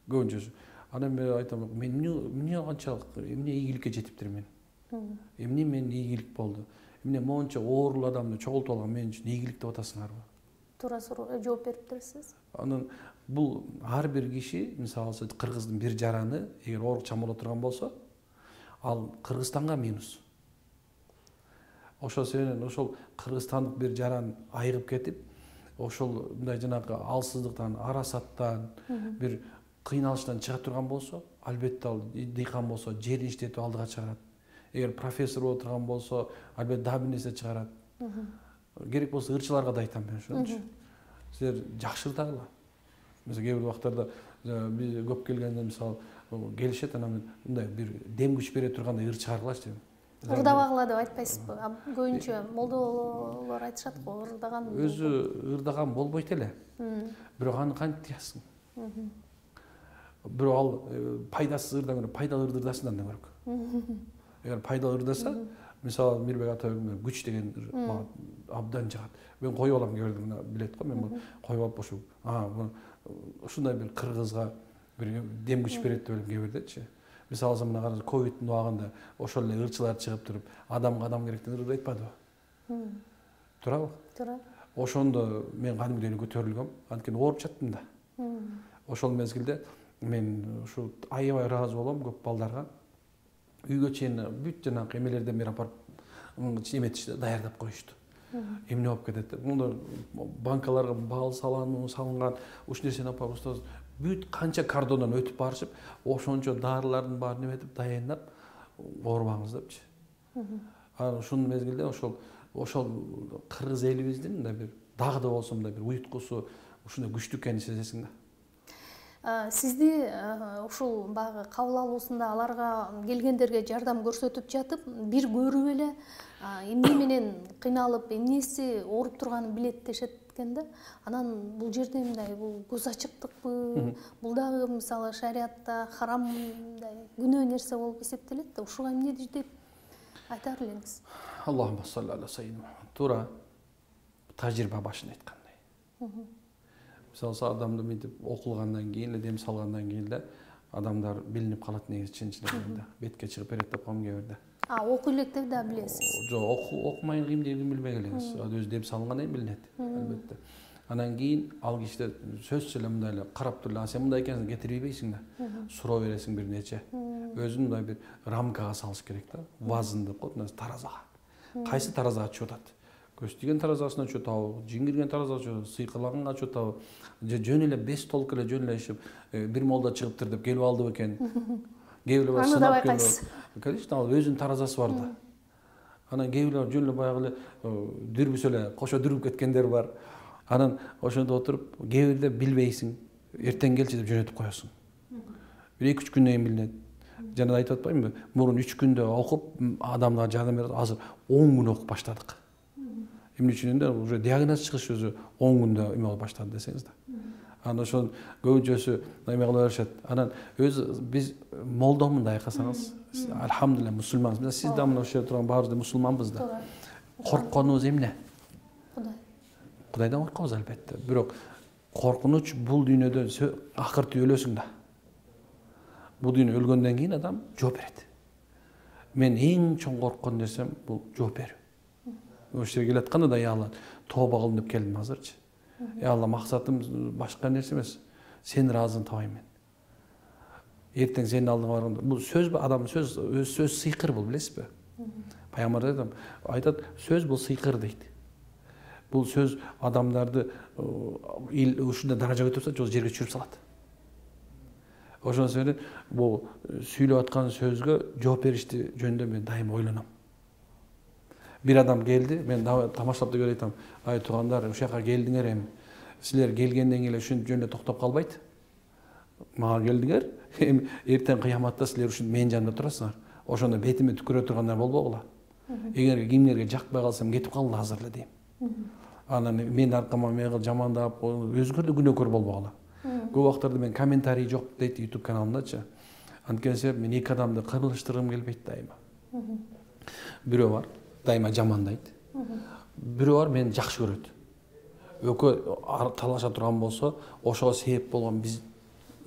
B: Көбүнчөсү. Анан мен айтам, мен эмне канчалык, эмне ийгиликке жетиптир мен? Эмне мен ийгилик болду? Эмне монча оорулуу адамды чогултуп алган мен үчүн ийгилик деп атасыңарбы?
A: Туура суроо жооп бериптирсиз.
B: Анан бул ар бир киши, мисалы Кыргыздын бир жараны эгер оорукчан боло турган болсо, ал Кыргызстанга минус. Ошол себептен ошол кыргызстандык бир жаран айыгып кетип, ошол мындай жанагы алсыздыктан, арасаттан, бир кыйналыштан чыга турган болсо, албетте ал дыйкан болсо, жерин иштетип алдыга чыгарат. Эгер профессор боло турган болсо, албетте дагы бир нерсе чыгарат. Керек болсо ырчыларга да айтам мен ошончу. Силер жакшыртагыла. Мисалы кээ бир убактарда биз көп келгенде мисалы келишет, анан мындай бир дем күч бере тургандай ыр чыгаргылачы дейм.
A: Ырдабагыла деп айтпайсызбы? Көбүнчө молдолор айтышат го, ырдаган.
B: Өзү ырдаган болбойт эле. Бирок аны кантип тыясың? Бирок ал пайдасыз ырдан көрө пайдалуу ырды ырдасын андан көрөк. Эгер пайдалуу ырдаса, мисалы Мирбек ата күч деген мага абдан жагат. Мен коюп алам кээ бирде билет го, мен коюп алып ошо ушундай бир кыргызга бир дем күч берет деп элем кээ бирдечи. Мисалы мына караңыз, ковидтин убагында ошол эле ырчылар чыгып туруп, адамга адам керектен ырды айтпадыбы? Туурабы?
A: Туура.
B: Ошондо мен кадимгидей эле көтөрүлгөм, анткени ооруп жаттым да. Ошол мезгилде мен ушу аябай ыраазы болом көп балдарга. Үйгө чейин бүт жанагы эмелерден бери апарып эметишти, даярдап коюшту. Эмне болуп кетет деп. Мында банкаларга бал салану салынган, уш нерсени апарып устоз бүт канча кордондон өтүп барышып, ошончо дарылардын баарын эметип даянап, оорубаңыз депчи. Анан ушул мезгилде ошол ошол кыргыз элибиздин мындай бир дагы да болсо мындай бир уюткусу ушундай күчтүү экенин сезесиң да.
A: Сизди ушул баягы кабыл алуусунда аларга келгендерге жардам көрсөтүп жатып, бир көрүп эле эмне менен кыйналып, эмнеси ооруп турганын билет дешет экен да. Анан бул жерде мындай бул көз ачыктыкпы, бул дагы мисалы шариатта харам мындай күнөө нерсе болуп эсептелет да. Ушуга эмне деп айтар элеңиз?
B: Аллахумма салли аля саййидина. Туура тажрыйба башын айткандай. Мисалы адамды мынтип окулгандан кийин эле, дем салгандан кийин эле адамдар билинип калат негизи чын-чынында. Бетке чыгып берет деп коем кээ бирде.
A: А окуй элек да билесиз?
B: Жок, окумай кийимдерин билбей келеңиз. Өзү дем салгандан кийин билинет, албетте. Анан кийин ал кишиде сөзсүз эле мындай эле карап туруп, сен мындай экенсиң, кетирбейсиң да. Суроо бересиң бир нече. Өзүн мындай бир рамкага салыш керек да. Вазн деп коет, таразага. Кайсы таразага түшүп атат? Көз тиген таразасына түшүп атабы, жин кирген таразага түшүп, сыйкырлаганга түшүп атабы, же жөн эле беш толук эле жөн эле ишип, бир молда чыгыптыр деп келип алды бекен. Кээ бирлер сынап келип. Конечно, ал өзүнүн таразасы бар да. Анан кээ бирлер жөн эле баягы эле дүрбүс эле кошо дүрүп кеткендер бар. Анан ошондо отуруп, кээ бирде билбейсиң, эртең келчи деп жөнөтүп коесуң. Бир эки үч күндөн кийин билинет. Жана айтып атпаймынбы? Мурун үч күндө окуп адамдарга жардам берет, азыр он күн окуп баштадык. Эмне үчүн да уже диагноз чыгыш өзү он күндө эме болуп баштады десеңиз да. Анан ошонун көбүнчөсү эме кыла беришет. Анан өз биз молдомун да айкасаңыз, альхамдулилля мусулманбыз. Сиз да мына ошол жерде турган баарыбыз да мусулманбыз да. Коркконубуз эмне?
A: Кудай.
B: Кудайдан коркобуз албетте. Бирок коркунуч бул дүйнөдө акыртып өлөсүң да. Бул дүйнө өлгөндөн кийин адам жооп берет. Мен эң чоң корккон нерсем бул жооп берүү. Ошол жерге келатканда да я Алла тооба кылдым деп келдим азырчы. Я Алла максатым башка нерсе эмес. Сен ыраазың табайм мен. Эртең сенин алдыңа барганда бул сөз адам сөз сөз сыйкыр бул, билесизби? Пайгамбар айтат, айтат сөз бул сыйкыр дейт. Бул сөз адамдарды ушундай даражага көтөрүп салат, жерге түшүрүп салат. Ошон себептен бул сүйлөп аткан сөзгө жооп беришти жөнүндө мен дайыма ойлоном. Бир адам келди, мен тамашалап да көрүп айтам, ай туугандар, ушул жака келдиңер эми. Силер келгенден кийин ушун жөнүндө токтоп калбайт. Мага келдиңер, эми эртең кыяматта силер ушун менин жанымда турасыңар. Ошондо бетиме түкүрө тургандар болбогула. Эгер кимдерге жакпай калсам кетип калгыла азыр эле дейм. Анан мен аркама мени жамандап, өзгөр да күнөөкөр болбогула. Көп убактарда мен комментарий жок дейт YouTube каналымдачы. Анткени себеп мен эки адамды кырылыштыргым келбейт дайыма. Бирөө бар, дайыма жамандайт. Бирөө бар мени жакшы көрөт. Экөө талаша турган болсо, ошого себеп болгон биз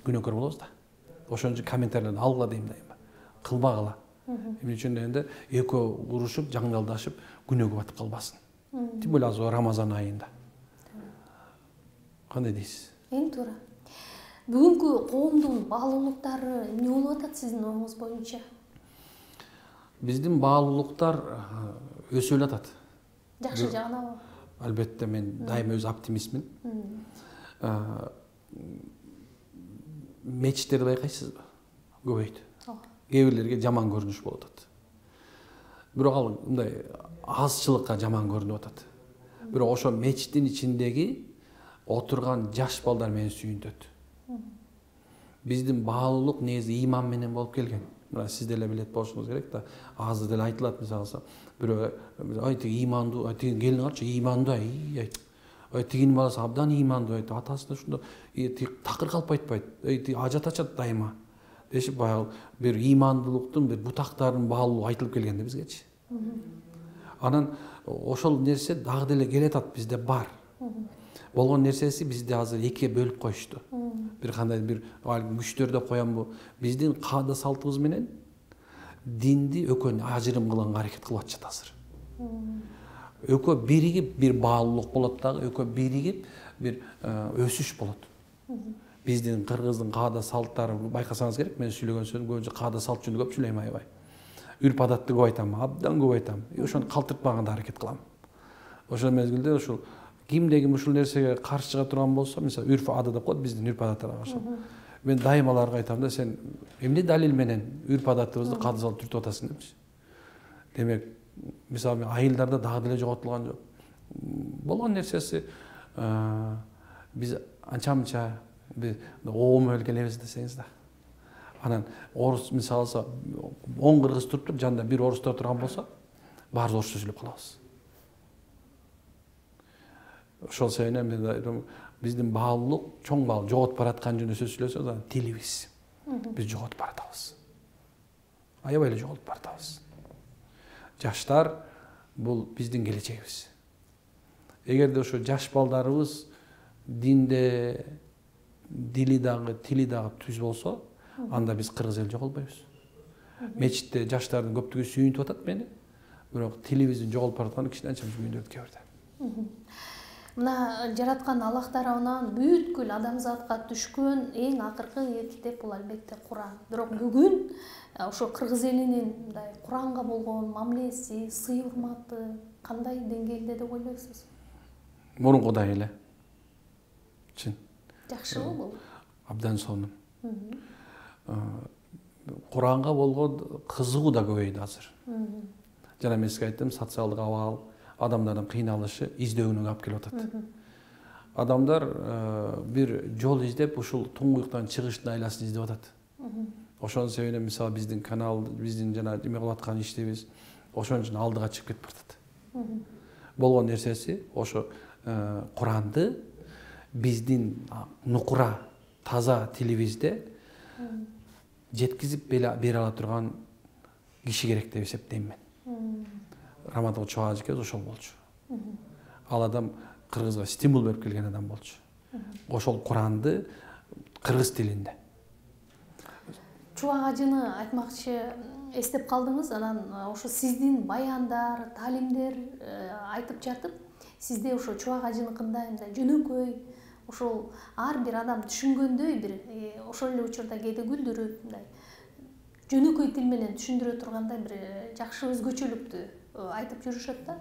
B: күнөөкөр болобуз да. Ошон үчүн комментарийлерди алгыла дейм дайыма. Кылбагыла. Эмне үчүн дегенде экөө урушуп, жаңдалдашып, күнөөгө батып калбасын. Тим более азыр Рамазан айында. Кандай дейсиз?
A: Эң туура. Бүгүнкү коомдун баалуулуктары эмне болуп атат сиздин оюңуз боюнча?
B: Биздин баалуулуктар өсүп атат.
A: Жакшы жагынабы?
B: Албетте мен дайыма өз оптимистмин. Мечиттерди байкайсызбы? Көбөйдү. Кээ бирлерге жаман көрүнүш болуп атат. Бирок ал мындай азчылыкка жаман көрүнүп атат. Бирок ошо мечиттин ичиндеги отурган жаш балдар мени сүйүнтөт. Биздин баалуулук негизи иман менен болуп келген. Мына сиз деле билет болушуңуз керек да. Азыр деле айтылат мисалы, бирөө ай тиги имандуу, ай тиги келин карчы имандуу, ай ай тигинин баласы абдан имандуу, айт атасына ушунда такыр калып айтпайт. Ай тиги ажат ачат дайыма. Дешип баягы бир имандуулуктун бир бутактарын баалуу айтылып келген да бизгечи. Анан ошол нерсе дагы деле келатат, бизде бар. Болгон нерсеси бизди азыр экиге бөлүп коюшту. Бир кандай бир күчтөр деп коямбы? Биздин каада салтыбыз менен динди экөөнү ажырым кылганга аракет кылып атышат азыр. Экөө биригип бир баалуулук болот дагы, экөө биригип бир өсүш болот. Биздин кыргыздын каада салттары байкасаңыз керек, мен сүйлөгөн сөзүм көбүнчө каада салт жөнүндө көп сүйлөйм аябай. Үрп адатты көп айтам, абдан көп айтам. Ошону калтыртпаганга аракет кылам. Ошол мезгилде ушул кимде ким ушул нерсеге каршы чыга турган болсо, мисалы үрп адат деп коет, биздин үрп адаттарга каршы. Мен дайыма аларга айтам да, сен эмне далил менен үрп адатыбызды каада салт түртүп атасың депчи. Демек, мисалы мен айылдарда дагы деле жоготулган жок. Болгон нерсеси биз анча-мынча биз оом өлүп келебиз десеңиз да. Анан орус мисалы он кыргыз туруп жанында бир орустар турган болсо, баарыбыз орусча сүйлөп калабыз. Ошол себептен мен айтам, биздин баалуулук, чоң баалуулук жоготуп бараткан жөнүндө сөз сүйлөсөбүз, анан тилибиз. Биз жоготуп баратабыз. Аябай эле жоготуп баратабыз. Жаштар бул биздин келечегибиз. Эгерде ошо жаш балдарыбыз динде дили дагы, тили дагы түз болсо, анда биз кыргыз эл жоголбойбуз. Мечитте жаштардын көптүгү сүйүнтүп атат мени, бирок тилибиздин жоголуп баратканы кичине анча сүйүндүрөт кээ бирде.
A: Мына жараткан Аллах тарабынан бүткүл адамзатка түшкөн эң акыркы китеп бул албетте Куран. Бирок бүгүн ошо кыргыз элинин мындай Куранга болгон мамилеси, сый урматы кандай деңгээлде деп ойлойсуз?
B: Мурункудай эле. Чын.
A: Жакшыбы бул?
B: Абдан сонун. Куранга болгон кызыгуу да көбөйдү азыр. Жана мен сизге айттым, социалдык абал, адамдардын кыйналышы издөөгүнө алып келип атат. Адамдар бир жол издеп, ушул туңгуюктан чыгыштын айласын издеп атат. Ошонун себебинен мисалы биздин канал, биздин жана эме кылып аткан иштебиз ошон үчүн алдыга чыгып кетип атат. Болгон нерсеси ошо Куранды биздин нукура таза тилибизде жеткизип бере ала турган киши керек деп эсептейм мен. Раматов чоң ажыке ошол болчу. Ал адам кыргызга стимул берип келген адам болчу. Ошол Куранды кыргыз тилинде.
A: Чубак ажыны айтмакчы эстеп калдыңыз, анан ошо сиздин баяндар, таалимдер айтып жатып, сизде ошо чубак ажыныкындай мындай жөнөкөй, ошол ар бир адам түшүнгөндөй бир ошол эле учурда кээде күлдүрүп, мындай жөнөкөй тил менен түшүндүрө тургандай бир жакшы өзгөчөлүктү айтып жүрүшөт да.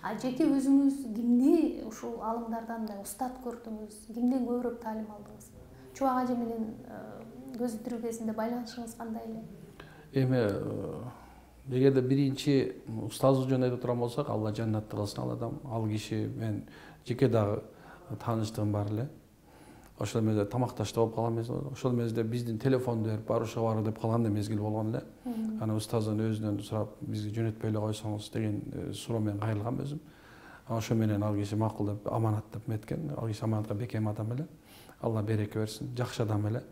A: А жеке өзүңүз кимди ушул алымдардан мындай устат көрдүңүз, кимден көбүрөөк таалим алдыңыз? Чубак ажы менен көзү тирүү кезинде байланышыңыз кандай эле?
B: Эми эгерде биринчи устазы жөнүндө айтып турган болсок, Алла жаннатты кылсын ал адам, ал киши мен жеке дагы тааныштыгым бар эле. Ошол мезгилде тамакташта болуп калган мезгил, ошол мезгилде биздин телефонду берип барышка бар деп калган мезгил болгон эле. Аны устаздын өзүнөн сурап, бизди жөнөтпөй эле койсоңуз деген суроо менен кайрылгам өзүм. Ошо менен ал киши макул деп аманат деп меткен. Ал киши аманатка бекем адам эле. Алла береке берсин, жакшы адам эле.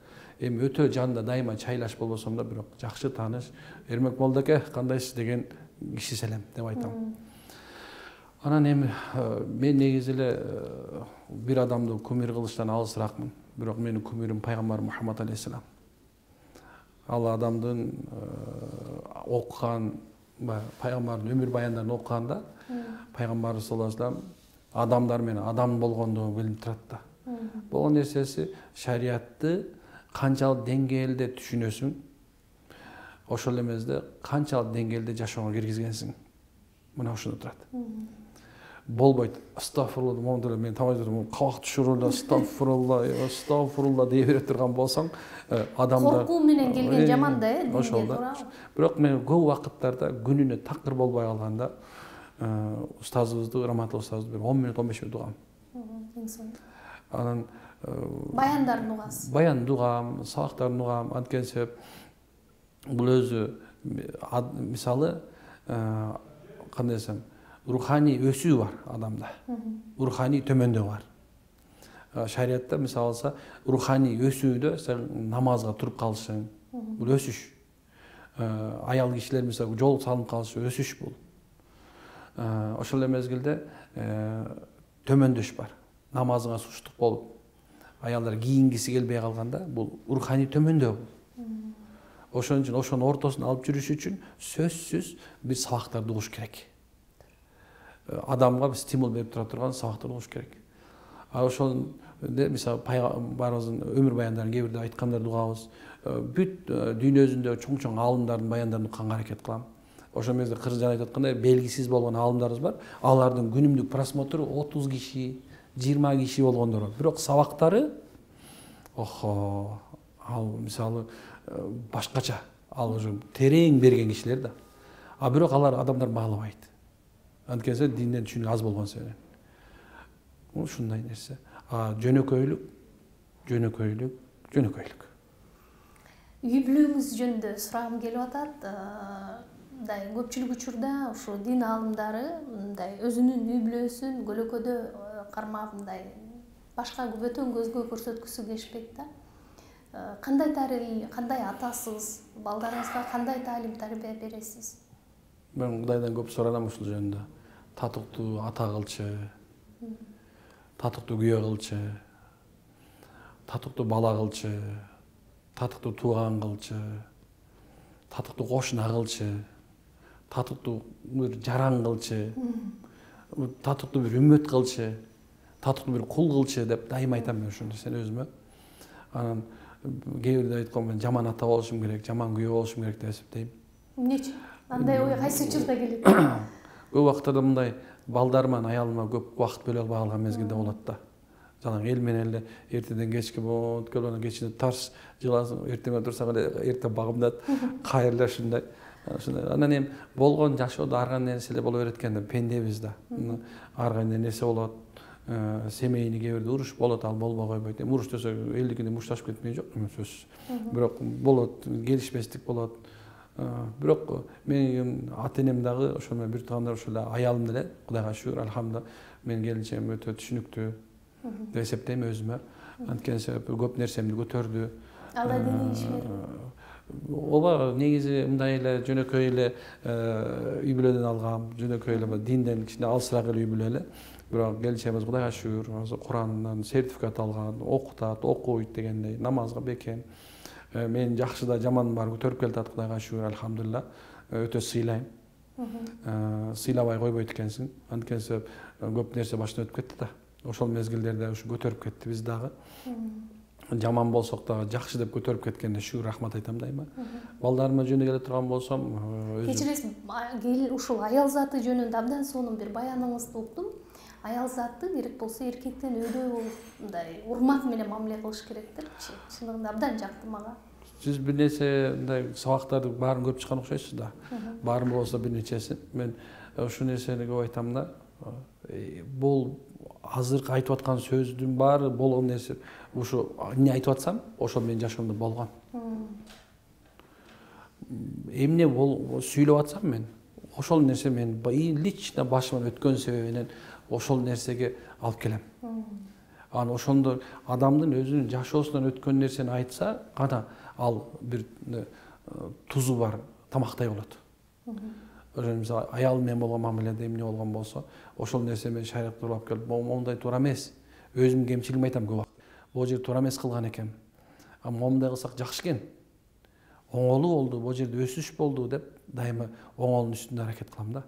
B: Эми өтө жанында дайыма чайлаш болбосом да, бирок жакшы тааныш, Эрмек молдоке кандайсыз деген киши селем деп айтам. Анан эми мен негизи эле бир адамды кумир кылыштан алысыраакмын. Бирок менин кумирим пайгамбар Мухаммад алейхиссалам. Ал адамдын окуган пайгамбардын өмүр баяндарын окуганда пайгамбарыбыз саллаллаху алейхи вассалам адамдар менен адам болгондугу билинип турат да. Болгон нерсеси шариатты канчалык деңгээлде түшүнөсүң, ошол эле мезгилде канчалык деңгээлде жашоого киргизгенсиң. Мына ошондо турат. Болбойт. Астагфирулла, момдулла мен тамайдырмын. Кабак түшүрүлдө астагфирулла, астагфирулла дей бере турган болсоң, адамдар
A: коркуу менен келген жаман да, э,
B: ошол да. Бирок мен көп убакыттарда күнүнө такыр болбой калганда устазыбызды, Раматов устазыбызды бир он мүнөт, он беш мүнөт угам. Анан
A: баяндарын угасыз.
B: Баянды угам, сабактарын угам, анткени себеп бул өзү мисалы кандай десем, руханий өсүү бар адамда. Руханий төмөндөө бар. Шариатта мисалы алса, руханий өсүүдө сен намазга туруп калышың, бул өсүш. Аял кишилер мисалы жол салынып калышы өсүш бул. Ошол эле мезгилде төмөндөш бар. Намазыңа суштук болуп, аялдар кийингиси келбей калганда, бул руханий төмөндөө бул. Ошон үчүн ошонун ортосун алып жүрүш үчүн сөзсүз бир сабактарды угуш керек. Адамга стимул берип тура турган сабактарды угуш керек. А ошондо мисалы пайгамбарыбыздын өмүр баяндарын кээ бирде айткандарды угабыз. Бүт дүйнө жүзүндө чоң-чоң аалымдардын баяндарын укканга аракет кылам. Ошол мезгилде кыргыз жана айтып аткандай белгисиз болгон аалымдарыбыз бар. Алардын күнүмдүк просмотру отуз киши, жыйырма киши болгондор бар. Бирок сабактары охо, ал мисалы башкача, ал уже терең берген кишилер да. А бирок алар адамдар баалабайт. Анткени динден түшүнүү аз болгон себептен. Ушундай нерсе. А жөнөкөйлүк, жөнөкөйлүк, жөнөкөйлүк.
A: Үй бүлөңүз жөнүндө сурагым келип атат. Мындай көпчүлүк учурда ушу дин аалымдары мындай өзүнүн үй бүлөсүн көлөкөдө кармап мындай башка бөтөн көзгө көрсөткүсү келишпейт да. Кандай тарбия, кандай атасыз, балдарыңызга кандай таалим тарбия бересиз?
B: Мен Кудайдан көп суранам ушул жөнүндө. Татыктуу ата кылчы, татыктуу күйөө кылчы, татыктуу бала кылчы, татыктуу тууган кылчы, татыктуу кошуна кылчы, татыктуу бир жаран кылчы, татыктуу бир үммөт кылчы, татыктуу бир кул кылчы деп дайыма айтам мен ушуну сен өзүмө. Анан кээ бирде айткам мен жаман ата болушум керек, жаман күйөө болушум керек деп эсептейм.
A: Эмнечи? Андай ой кайсы учурда келет?
B: Көп убактарда мындай балдарыма, аялыма көп убакыт бөлө албай калган мезгилде болот да. Жалаң эл менен эле эртеден кечке болот, келгөндөн кечинде тарс жыласың, эртең турсаң эле эрте багымдат, кайра ушундай. Анан эми болгон жашоодо ар кандай нерселер боло берет экен да, пендебиз да. Ар кандай нерсе болот. Семейный кээ бирде уруш болот, ал болбой койбойт. Эми уруш десе элдикинде мушташып кетмей жок, эми сөзсүз. Бирок болот, келишпестик болот. Бирок менин ата-энем дагы ошол менен бир туугандар ошол эле аялым деле, Кудайга шүгүр, алхамдулилlah, менин келинчегим өтө түшүнүктүү. деп эсептейм өзүмө. Анткени себеби көп нерсемди көтөрдү.
A: Алла диний ишмер.
B: Ооба, негизи мындай эле жөнөкөй эле үй бүлөдөн алгам, жөнөкөй эле динден кичине алысыраак эле үй бүлө эле. Бирок келишебиз Кудайга шүгүр, азыр Курандан сертификат алган, окутат, окуйт дегендей, намазга бекем. Мен жакшы да жаман баары көтөрүп келатат, Кудайга шүгүр, альхамдулилла. Өтө сыйлайм. Сыйлабай койбойт экенсиң. Анткени себеп көп нерсе башынан өтүп кетти да. Ошол мезгилдерде ушу көтөрүп кетти биз дагы. Жаман болсок дагы жакшы деп көтөрүп кеткенде шүгүр, рахмат айтам дайыма. Балдарыма жөнү келе турган болсом,
A: кечиресиз, ушул аял заты жөнүндө абдан сонун бир баяныңызды уктум. Аял заты керек болсо эркектен өйдө болуп мындай урмат менен мамиле кылыш керек депчи. Чындыгында абдан жакты мага. Сиз
B: бир нерсе мындай сабактарды баарын көрүп чыккан окшойсуз да. Баарын болсо бир нечесин. Мен ушул нерсени көп айтам да. Бул азыркы айтып аткан сөздүн баары болгон нерсе. Ушу эмне айтып атсам, ошол менин жашоомдо болгон. Эмне бол сүйлөп атсам мен, ошол нерсе мен лично башыман өткөн себебинен ошол нерсеге алып келем. Анан ошондо адамдын өзүнүн жашоосунан өткөн нерсени айтса, гана ал бир тузу бар тамактай болот. Мисалы, аял менен болгон мамиледе эмне болгон болсо, ошол нерсе мен шариатка алып келип, момундай туура эмес. Өзүмдүн кемчилигимди айтам көп убакыт. Бул жер туура эмес кылган экем. А момундай кылсак жакшы экен. Оңолу болду, бул жерде өсүш болду деп дайыма оңолдун үстүндө аракет кылам да.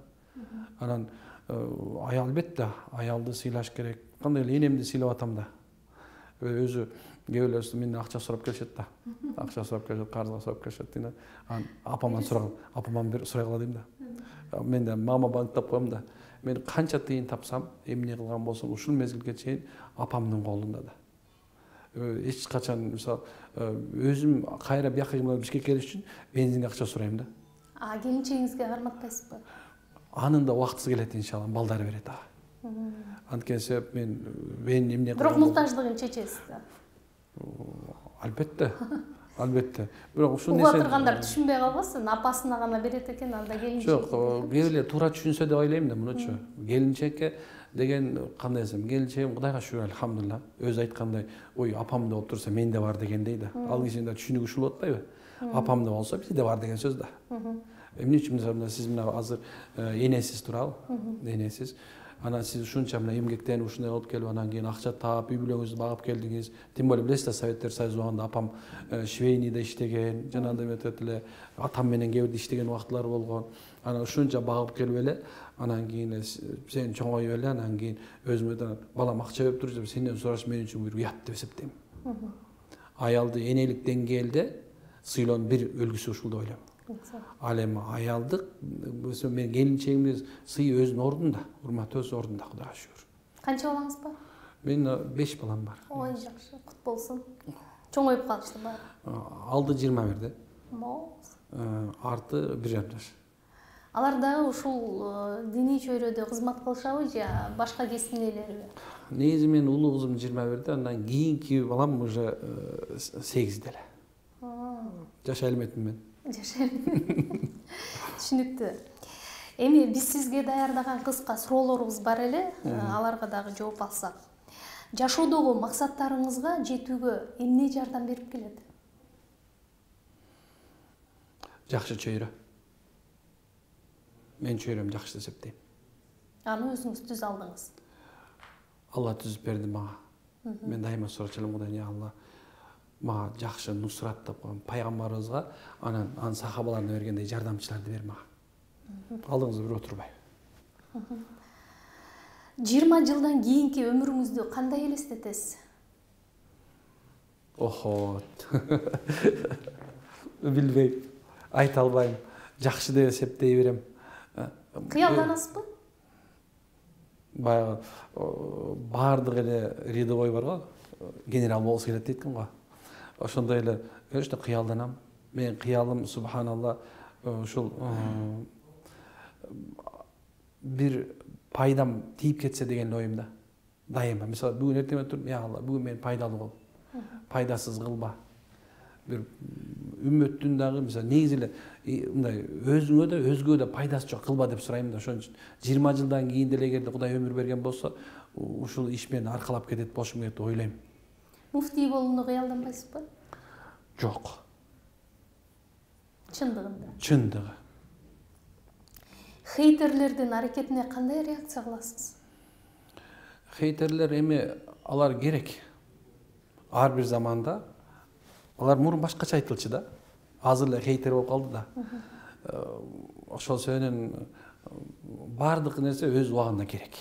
B: Анан аял албетте, аялды сыйлаш керек. Кандай эле энемди сыйлап атам да. Өзү кээ бирөөсү менден акча сурап келишет да. Акча сурап келишет, карызга сурап келишет дейм да. Анан апаман сураган, апаман бир сурай кала дейм да. Мен да мама банктап коем да. Мен канча тыйын тапсам, эмне кылган болсом, ушул мезгилге чейин апамдын колунда да. Эч качан мисалы өзүм кайра бияка Бишкекке келиш үчүн бензинге акча сурайм да.
A: А келинчегиңизге карматпайсызбы?
B: Анын да убактысы келет иншалла, балдары берет ага. Анткени себеп мен мен эмне
A: Бирок муктаждыгын чечесиз да.
B: Албетте. Албетте. Бирок ушул
A: нерсе уга тургандар түшүнбөй калбасын, апасына гана берет экен, анда келинчек.
B: Жок, кээ эле туура түшүнсө деп ойлойм да мунучу. Келинчекке деген кандай десем, келинчегим Кудайга шүгүр, альхамдулилла. Өзү айткандай, ой, апамда болуп турса менде бар дегендей да. Ал кишинин да түшүнүгү ушул болуп атпайбы? Апамда болсо бизде бар деген сөз да. Эмне үчүн мисалы сиз мына азыр энесиз туурабы? Энесиз. Анан сиз ушунча мына эмгектенип ушундай болуп келип, анан кийин акча таап, үй бүлөңүздү багып келдиңиз. Тем более билесиз да, Советтер Союзу убагында апам швейныйда иштеген, жанагындай метод эле атам менен кээ бирде иштеген убактылар болгон. Анан ушунча багып келип эле, анан кийин сен чоңоюп эле, анан кийин өзүмө балам акча берип туруп, сенден сураш мен үчүн бир уят деп эсептейм. Аялды энелик деңгээлде сыйлоонун бир үлгүсү ушул деп ойлойм. Ал эми аялдык мен келинчегимдин сыйы өзүнүн ордунда, урматы өз ордунда, Кудайга шүгүр.
A: Канча балаңыз бар?
B: Менин беш балам бар.
A: Ой, жакшы, кут болсун. Чоңоюп калышты баары.
B: Алды жыйырма бирде.
A: Моз.
B: Арты бир жарым жаш.
A: Алар дагы ушул диний чөйрөдө кызмат кылышабы же башка кесиптин ээлериби?
B: Негизи менин улуу кызым жыйырма бирде, андан кийинки балам уже сегизде эле. Жаш алиметмин мен.
A: Түшүнүктүү. Эми биз сизге даярдаган кыска суроолорубуз бар эле, аларга дагы жооп алсак. Жашоодогу максаттарыңызга жетүүгө эмне жардам берип келет?
B: Жакшы чөйрө. Мен чөйрөм жакшы деп эсептейм.
A: Аны өзүңүз түзүп алдыңыз.
B: Алла түзүп берди мага. Мен дайыма сурачу элем, Кудайдан, я Алла, мага жакшы нусрат тапкан пайгамбарыбызга анан анын сахабаларына бергендей жардамчыларды бер мага. Алдыңызда бир отурбай.
A: жыйырма жылдан кийинки өмүрүңүздү кандай элестетесиз?
B: Охо. Билбейм, айта албайм. Жакшы деп эсептей берем.
A: Кыялданасызбы?
B: Баягы баардык эле рядовой бар го, генерал болсо келет дейт экен го. Ошондой эле, конечно, кыялданам. Менин кыялым, субханалла, ушул бир пайдам тийип кетсе деген оюмда. Дайыма. Мисалы, бүгүн эртең туруп, я Алла, бүгүн мен пайдалуу кыл. Пайдасыз кылба. Бир үммөттүн дагы мисалы негизи эле мындай өзүңө да өзгөгө да пайдасы жок кылба деп сурайм да. Ошон үчүн жыйырма жылдан кийин деле эгерде Кудай өмүр берген болсо, ушул иш мени аркалап кетет болушум керек деп ойлойм.
A: Муфтий болууну кыялданбайсызбы?
B: Жок.
A: Чындыгында.
B: Чындыгы.
A: Хейтерлердин аракетине кандай реакция кыласыз?
B: Хейтерлер эми алар керек. Ар бир заманда алар мурун башкача айтылчу да. Азыр эле хейтер болуп калды да. Ошол себептен баардык нерсе өз убагында керек.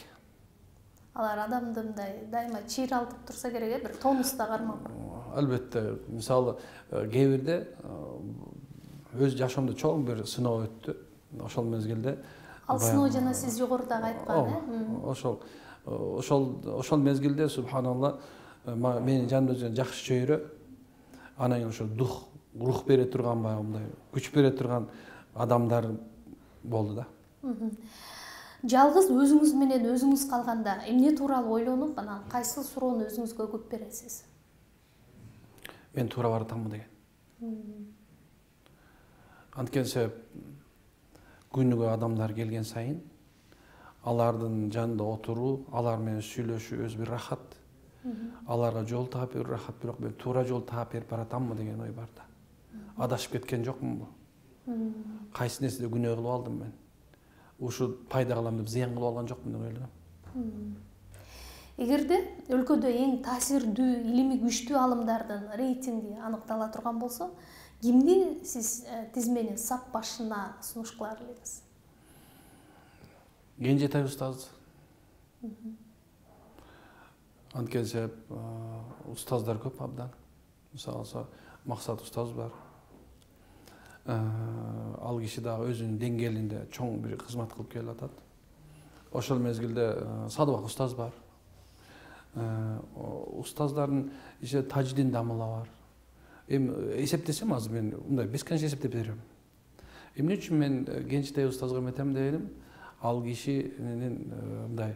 A: Алар адамды мындай дайыма чыйралтып турса керек, э, бир тонуста кармап.
B: Албетте, мисалы кээ бирде өз жашоомдо чоң бир сыноо өттү. Ошол мезгилде
A: Ал сыноо жана сиз жогорудагы айткан, э?
B: Ошол ошол ошол мезгилде субханалла менин жанымда жакшы чөйрө, анан кийин ошо дух, рух бере турган баягы мындай күч бере турган адамдар болду да.
A: Жалгыз өзүңүз менен өзүңүз калганда эмне тууралуу ойлонуп, анан кайсы суроону өзүңүзгө көп бересиз?
B: Мен туура баратамбы деген. Анткени себеп күнүгө адамдар келген сайын алардын жанында отуруу, алар менен сүйлөшүү өз бир рахат. Аларга жол таап берүү рахат, бирок мен туура жол таап берип баратамбы деген ой бар да. Адашып кеткен жокмунбу? Кайсы нерседе күнөө кылып алдым мен? Ушу пайда кылам деп зыян кылып алган жокмун деп ойлойм.
A: Эгерде өлкөдө эң таасирдүү, илимий күчтүү алымдардын рейтинги аныктала турган болсо, кимди сиз тизменин сап башына сунуш кылар элеңиз?
B: Кенжетай устаз. Анткени себеп устаздар көп абдан. Мисалы Максат устаз бар. Ал киши дагы өзүнүн деңгээлинде чоң бир кызмат кылып келип атат. Ошол мезгилде Садыбак устаз бар. Устаздардын ичинде Тажидин Дамыла бар. Эми эсептесем азыр мен мындай бесконечно эсептеп берем. Эмне үчүн мен Кенжетай устазга эметем дегеним, ал кишинин мындай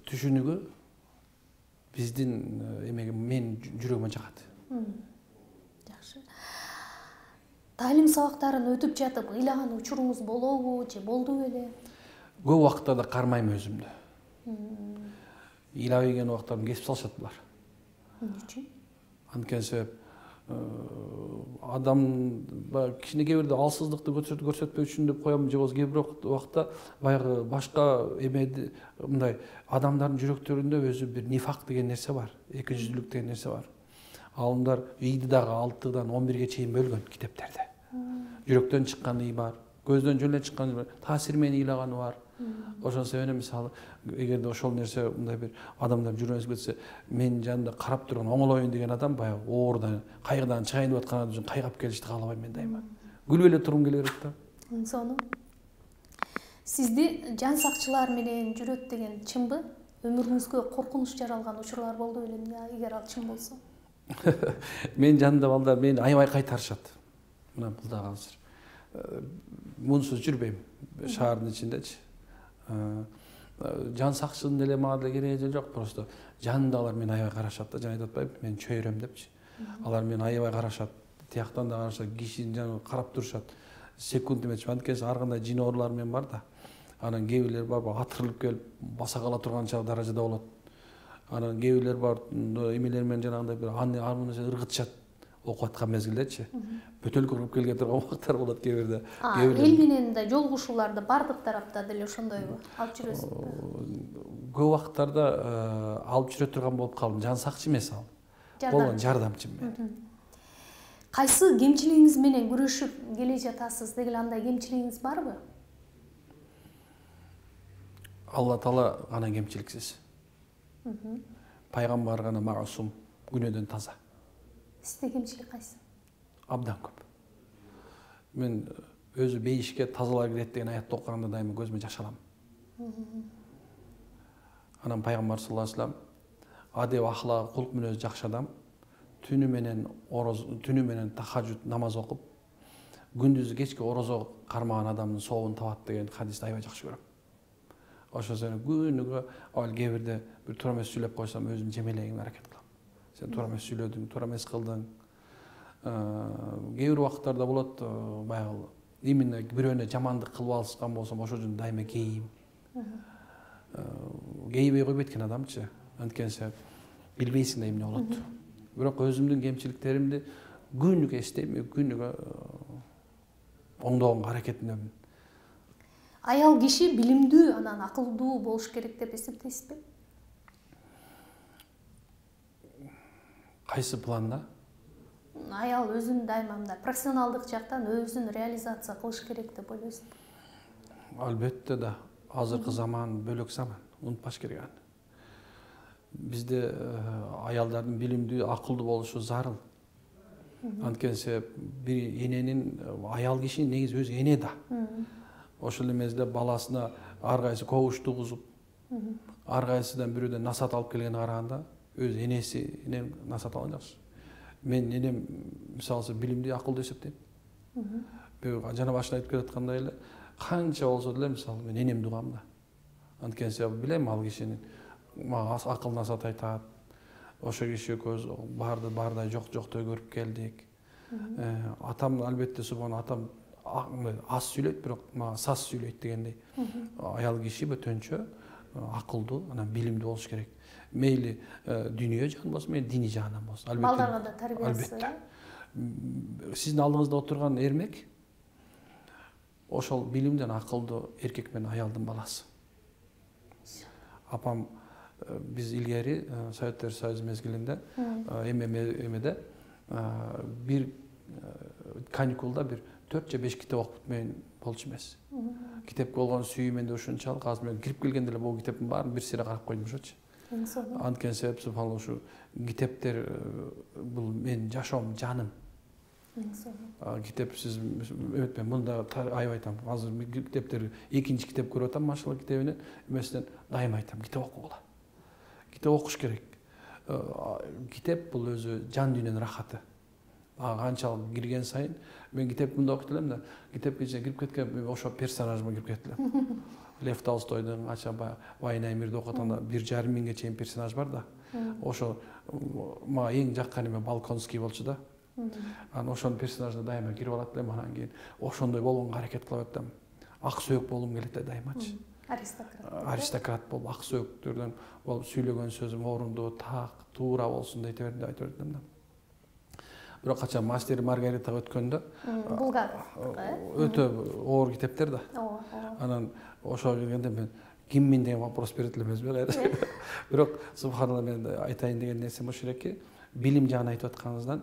B: түшүнүгү биздин эмеге менин жүрөгүмө жагат.
A: Жакшы. Таалим сабактарын өтүп жатып ыйлаган учуруңуз болобу же болду беле?
B: Көп убактарда кармайм өзүмдү. Ыйлабай келген убактарым кесип салышат булар.
A: Эмне үчүн?
B: Анткени себеп адам кичине кээ бирде алсыздыкты көрсөтпөө үчүн деп коем, же болбосо кээ бир убакта баягы башка эмеди мындай адамдардын жүрөктөрүндө өзү бир нифак деген нерсе бар, эки жүздүүлүк деген нерсе бар. Алымдар ийди дагы алтыдан он бирге чейин бөлгөн китептерде. Жүрөктөн чыккан ый бар, көздөн жөн эле чыккан бар, таасир менен ыйлаганы бар. Ошон себептен мисалы эгерде ошол нерсе мындай бир адамдар жүрөк кетсе, менин жанымда карап турган оңолоюн деген адам баягы оорудан, кайгыдан чыгайын деп аткан адам үчүн кайгап келишти каалабайм мен дайыма. Күлүп эле тургум келе берет да.
A: Сону сизди жан сакчылар менен жүрөт деген чынбы? Өмүрүңүзгө коркунуч жаралган учурлар болду белеби, эгер ал чын болсо?
B: Менин жанымда балдар мени аябай кайтарышат. Мына бул дагы азыр мунсуз жүрбөйм шаардын ичиндечи. Жан сакчынын деле мага деле кереги жок, просто жанымда алар мени аябай карашат да, жана айтып атпайбы, мен чөйрөм депчи. Алар мени аябай карашат, тияктан да карашат, кишинин жанына карап турушат. Секунд эметчи, анткени ар кандай жин оорулар менен бар да. Анан кээ бирлер бар, атырылып келип баса кала турган даражада болот. Анан кээ бирлер бар, эмелер менен жанагындай бир аны аны ыргытышат окуп аткан мезгилдечи. Бөтөлкө кылып келге турган убактар болот кээ бирде.
A: Эл менен да жолугушууларды бардык тарапта деле ошондойбу алып жүрөсүзбү?
B: Көп убактарда алып жүрө турган болуп калдым. Жан сакчы эмес ал. Болгон жардамчым мен.
A: Кайсы кемчилигиңиз менен күрөшүп келе жатасыз деген андай кемчилигиңиз барбы?
B: Алла Таала гана кемчиликсиз. Пайгамбар гана маасум, күнөөдөн таза.
A: Сизде кемчилик кайсы?
B: Абдан көп. Мен өзү бейишке тазалар кирет деген аятты окуганда дайыма көзүмө жаш алам. Анан пайгамбар саллаллаху алейхи вассалам адеп ахлагы кулк мүнөзү жакшы адам түнү менен ороз түнү менен тахажжуд намаз окуп күндүзү кечке орозо кармаган адамдын сообун табат деген хадисти аябай жакшы көрөм. Ошол себептен күнүгө ал кээ бирде бир туура эмес сүйлөп койсом өзүм жемелегиме аракет кылам. Сен туура эмес сүйлөдүң, туура эмес кылдың. кээ бир убакыттарда болот баягы именно бирөөнө жамандык кылып алышкан болсом ошол үчүн дайыма кейим кейбей койбойт экен адамчы, анткени билбейсиң да эмне болот. Бирок өзүмдүн кемчиликтеримди күнүгө эстейм, күнүгө оңдогонго аракетинемин.
A: Аял киши билимдүү, анан акылдуу болуш керек деп эсептейсизби?
B: Кайсы планда?
A: Аял өзүн дайыма мындай профессионалдык жактан өзүн реализация кылыш керек деп ойлойсузбу?
B: Албетте да. Азыркы заман бөлөк заман, унутпаш керек аны. Бизде аялдардын билимдүү, акылдуу болушу зарыл. Анткени бир эненин, аял кишинин негизи өзү эне да. Ошол эмеде баласына ар кайсы кобуш тугузуп, ар кайсыдан бирөөдөн насаат алып келгенге караганда өз энесинен насаат алган жакшы. Мен энем мисалы билимдүү, акылдуу эсептейм. Жана башында айтып келаткандай эле, канча болсо деле мисалы мен энемди угам да. Анткени билем ал кишинин мага акыл насаат айтат. Ошо киши көз барды бардай жок жоктой көрүп келдик. Атам албетте субхан атам аз сүйлөйт, бирок мага саз сүйлөйт дегендей. Аял киши бөтөнчө акылдуу, анан билимдүү болуш керек. Мейли дүйнө жагынан болсун, мейли диний жагынан болсун.
A: Албетте. Балдарга да тарбиясы.
B: Албетте. Сиздин алдыңызда отурган эрмек ошол билимдүү, акылдуу эркек менен аялдын баласы. Апам биз илгери Советтер Союзу мезгилинде эмеде бир каникулда бир төрт же беш китеп окуп бүтмөйүн болчу эмес. Китепке болгон сүйүү менде ушунчалык, азыр мен кирип келгенде эле бул китептин баарын бир сыйра карап койдум ошочу. Анткени себеп субханалла ушу китептер бул менин жашоом, жаным. Китепсиз өтпөйм. Мында аябай айтам. Азыр китептер экинчи китеп көрүп атам, машалла китебинен эмесинен дайыма айтам, китеп окугула. Китеп окуш керек. Китеп бул өзү жан дүйнөнүн рахаты. Канчалык кирген сайын мен китепти мында окуйт элем да, китепке кирип кеткен ошо персонажыма кирип кетип элем. Лев Толстойдун кача Война и мирди окуп атканда бир жарым миңге чейин персонаж бар да. Ошо мага эң жаккан эме Балконский болчу да. Анан ошонун персонажына дайыма кирип алат элем, анан кийин ошондой болгонго аракет кылып атам. Ак сөөк болгум келет да дайымачы. Аристократ. Аристократ болуп, ак сөөктөрдөн болуп, сөйлөгөн сөзүм орундуу, так, туура болсун дейт берди, айтып атам да. Бирок качан Мастер и Маргаритага өткөндө, өтө оор китептер да. Анан ошого келгенде мен киммин деген вопрос берет элем өзүмө. Бирок субханалла мен айтайын деген нерсем ошол эки, билим жагын айтып атканыңыздан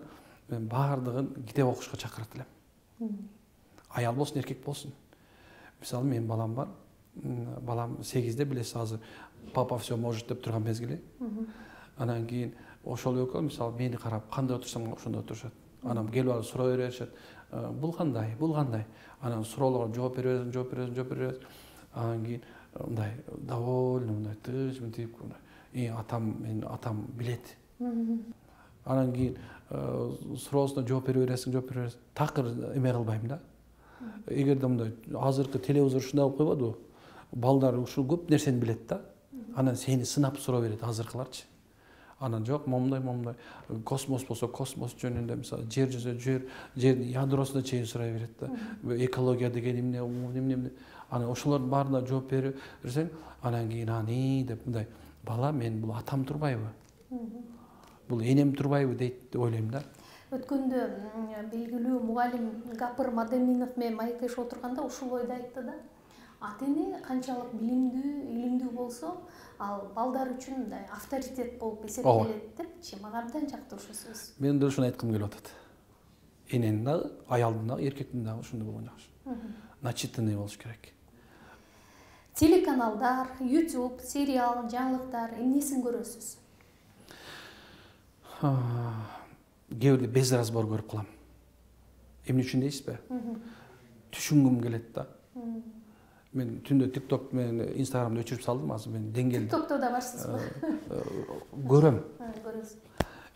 B: мен баардыгын китеп окушка чакырат элем. Аял болсун, эркек болсун. Мисалы менин балам бар. Балам сегизде, билесиз, азыр папа все может деп турган мезгили. Анан кийин ошол экөө мисалы мени карап кандай отурсам ошондой отурушат. Анан келип алып суроо беришет. Бул кандай, бул кандай? Анан суроолорго жооп бере бересиң, жооп бере бересиң, жооп бере бересиң. Анан кийин мындай довольно, мындай тыж мынтип, и атам, менин атам билет. Анан кийин суроосуна жооп бере бересиң, жооп бере бересиң. Такыр эме кылбайм да. Эгерде мындай азыркы телевизор ушундай болуп койбодубу? Балдар ушул көп нерсени билет да. Анан сени сынап суроо берет азыркыларчы. Анан жок, момундай, момундай. Космос болсо космос жөнүндө, мисалы, жер жүзүндө жер, жердин ядросуна чейин сурай берет да. Экология деген эмне, эмне, эмне. Анан ошолордун баарына жооп бере берсең, анан кийин аны деп мындай, бала, мен бул атам турбайбы? Бул энем турбайбы дейт деп ойлойм да.
A: Өткөндө белгилүү мугалим Гапыр Мадеминов менен маектешип отурганда ушул ойду айтты да. Ата-эне канчалык билимдүү, илимдүү болсо, ал балдар үчүн мындай авторитет болуп эсептелет депчи. Мага абдан жакты ушул сөз.
B: Мен да ушуну айткым келип атат. Эненин дагы, аялдын дагы, эркектин дагы ушундай болгон жакшы. Начитанный болуш керек.
A: Телеканалдар, YouTube, сериал, жаңылыктар эмнесин көрөсүз?
B: Кээ бирде без разбор көрүп калам. Эмне үчүн дейсизби? Түшүнгүм келет да. Мен түндө TikTok менен Instagramды өчүрүп салдым, азыр мен деңгээлде.
A: TikTokто да барсызбы?
B: Көрөм.
A: Көрөсүз.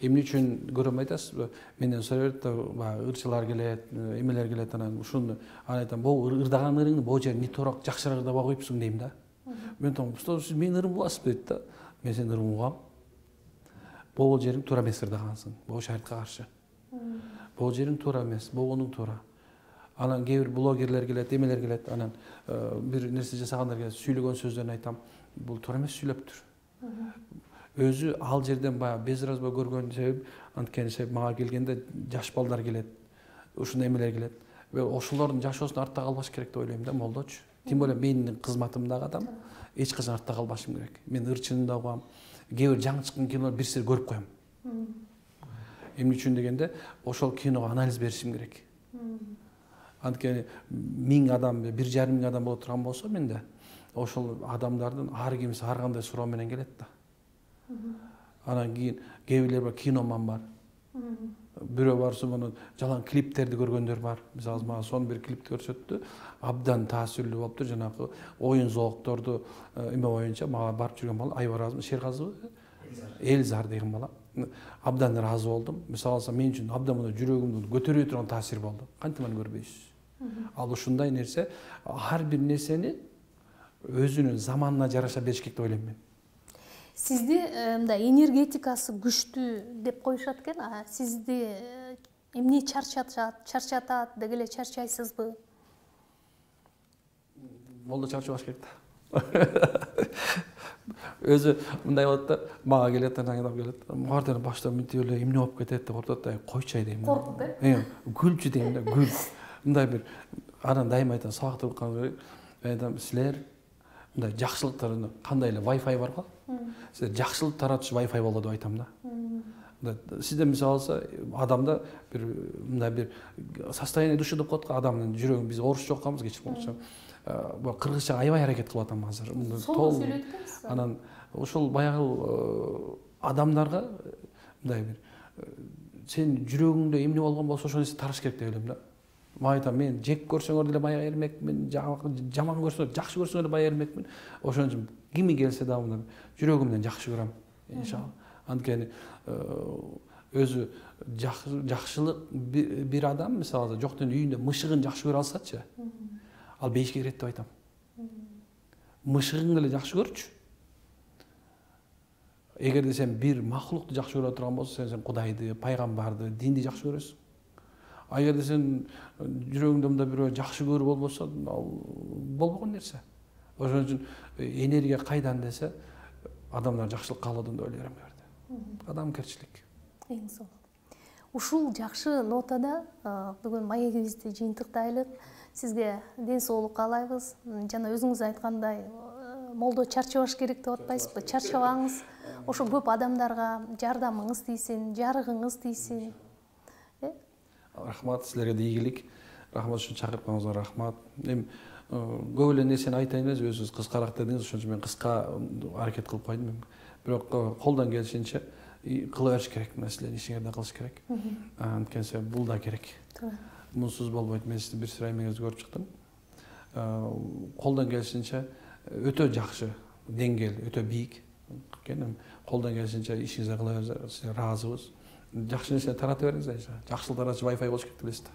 B: Эмне үчүн көрөм айтасызбы? Менден сурай берет да, баягы ырчылар келет, эмелер келет, анан ушуну анан айтам, "Бул ырдаган ырыңды бул жер нитороок жакшыраак ырдап койупсуң" дейм да. Мен айтам, "Уста, сиз менин ырым угасызбы" дейт да. Мен сенин ырымыңды угам. Бул жериң туура эмес ырдагансың. Бул шартка каршы. Бул жериң туура эмес, болгонуң туура. Анан кээ бир блогерлер келет, эмелер келет, анан бир нерсе жасагандар келет, сүйлөгөн сөздөрүн айтам. Бул туура эмес сүйлөптүр. Өзү ал жерден баягы безразбоо көргөн себеп, анткени себеп мага келгенде жаш балдар келет, ушундай эмелер келет. Ошолордун жашоосун артта калбаш керек деп ойлойм да, молдочу. Тем более менин кызматымдагы адам эч качан артта калбашым керек. Мен ырчынын да угам, кээ бир жаңы чыккан кинолор бир сери көрүп коем. Эмне үчүн дегенде, ошол киного анализ беришим керек. Анткени миң адам, бир жарым миң адам боло турган болсо менде, ошол адамдардын ар кимиси ар кандай суроо менен келет да. Анан кийин кээ бирлер бар, киноман бар. Бирөө барса муну жалаң клиптерди көргөндөр бар. Мисалы мага сон бир клипти көрсөттү. Абдан таасирлүү болуптур, жанагы оюн зоокторду эме боюнча мага барып жүргөн бала Айбар Шерказова, Элзар деген бала. Абдан ыраазы болдум. Мисалы алсам, мен үчүн абдан мына жүрөгүмдү көтөрүп турган таасир болду. Кантип аны көрбөйсүз? Ал ушундай нерсе, ар бир нерсени өзүнүн заманына жараша бериш керек деп ойлойм мен.
A: Сизди мындай энергетикасы күчтүү деп коюшат экен. Сизди эмне чарчатат, чарчатат деги эле чарчайсызбы?
B: Болду чарчабаш керек да. Өзү мындай болот да, мага келет, анан адам келет. Мугартен башта мынтип эле эмне болуп кетет деп ортот да, койчу дейм.
A: Коркуп э?
B: Э, гүлчү дейм да, гүл. Мындай бир анан дайыма айтам, сабактырып калган керек. Айтам, силер мындай жакшылыктарын кандай эле Wi-Fi бар го? Силер жакшылык таратуучу Wi-Fi болду деп айтам да. Сизде мисалы алса, адамда бир мындай бир состояние души деп коет го, адамдын жүрөгүн биз орусча окуганбыз кечип болчу. Бул кыргызча аябай аракет кылып атам азыр.
A: Сол сүйлөйт экенсиз.
B: Анан ошол баягы адамдарга мындай бир сен жүрөгүңдө эмне болгон болсо ошол нерсе тараш керек деп ойлойм да. Мага айтам, мен жек көрсөңөр деле бая эрмекмин, жаман көрсөңөр, жакшы көрсөңөр деле бая эрмекмин. Ошон үчүн кими келсе да мына жүрөгүмдөн жакшы көрөм, иншалла. Анткени өзү жакшылык бир адам, мисалы, жоктун үйүндө мышыгын жакшы көрө алсачы, ал бейишке кирет деп айтам. Мышыгың эле жакшы көрчү. Эгерде сен бир махлукту жакшы көрө турган болсо, сен Кудайды, пайгамбарды, динди жакшы көрөсүң. А эгерде сен жүрөгүңдө мындай бирөө жакшы көрүү болбосо, ал болбогон нерсе. Ошон үчүн энергия кайдан десе, адамдар жакшылык каалоодон деп ойлойм берди. Адамгерчилик.
A: Эң сонун. Ушул жакшы нотада бүгүн маегибизди жыйынтыктайлык. Сизге ден соолук каалайбыз. Жана өзүңүз айткандай, молдо чарчабаш керек деп атпайсызбы? Чарчабаңыз. Ошо көп адамдарга жардамыңыз тийсин, жарыгыңыз тийсин.
B: Рахмат, силерге да ийгилик. Рахмат ушун чакыртканыңызга рахмат. Эми көп эле нерсени айтайын эле, өзүңүз кыскараак дедиңиз, ошон үчүн мен кыска аракет кылып койдум. Бирок колдон келишинче кыла бериш керек, нерселерди ишиңерде кылыш керек. Анткени бул да керек. Мунсуз болбойт. Мен сиздин бир сыйра эмеңизди көрүп чыктым. Колдон келишинче өтө жакшы деңгээл, өтө бийик. Колдон келишинче ишиңизди кыла бериңиз, сизге ыраазыбыз. Жакшы нерсе тарата бериңиз, жакшылык таратчы Wi-Fi болуш керек деп элестим.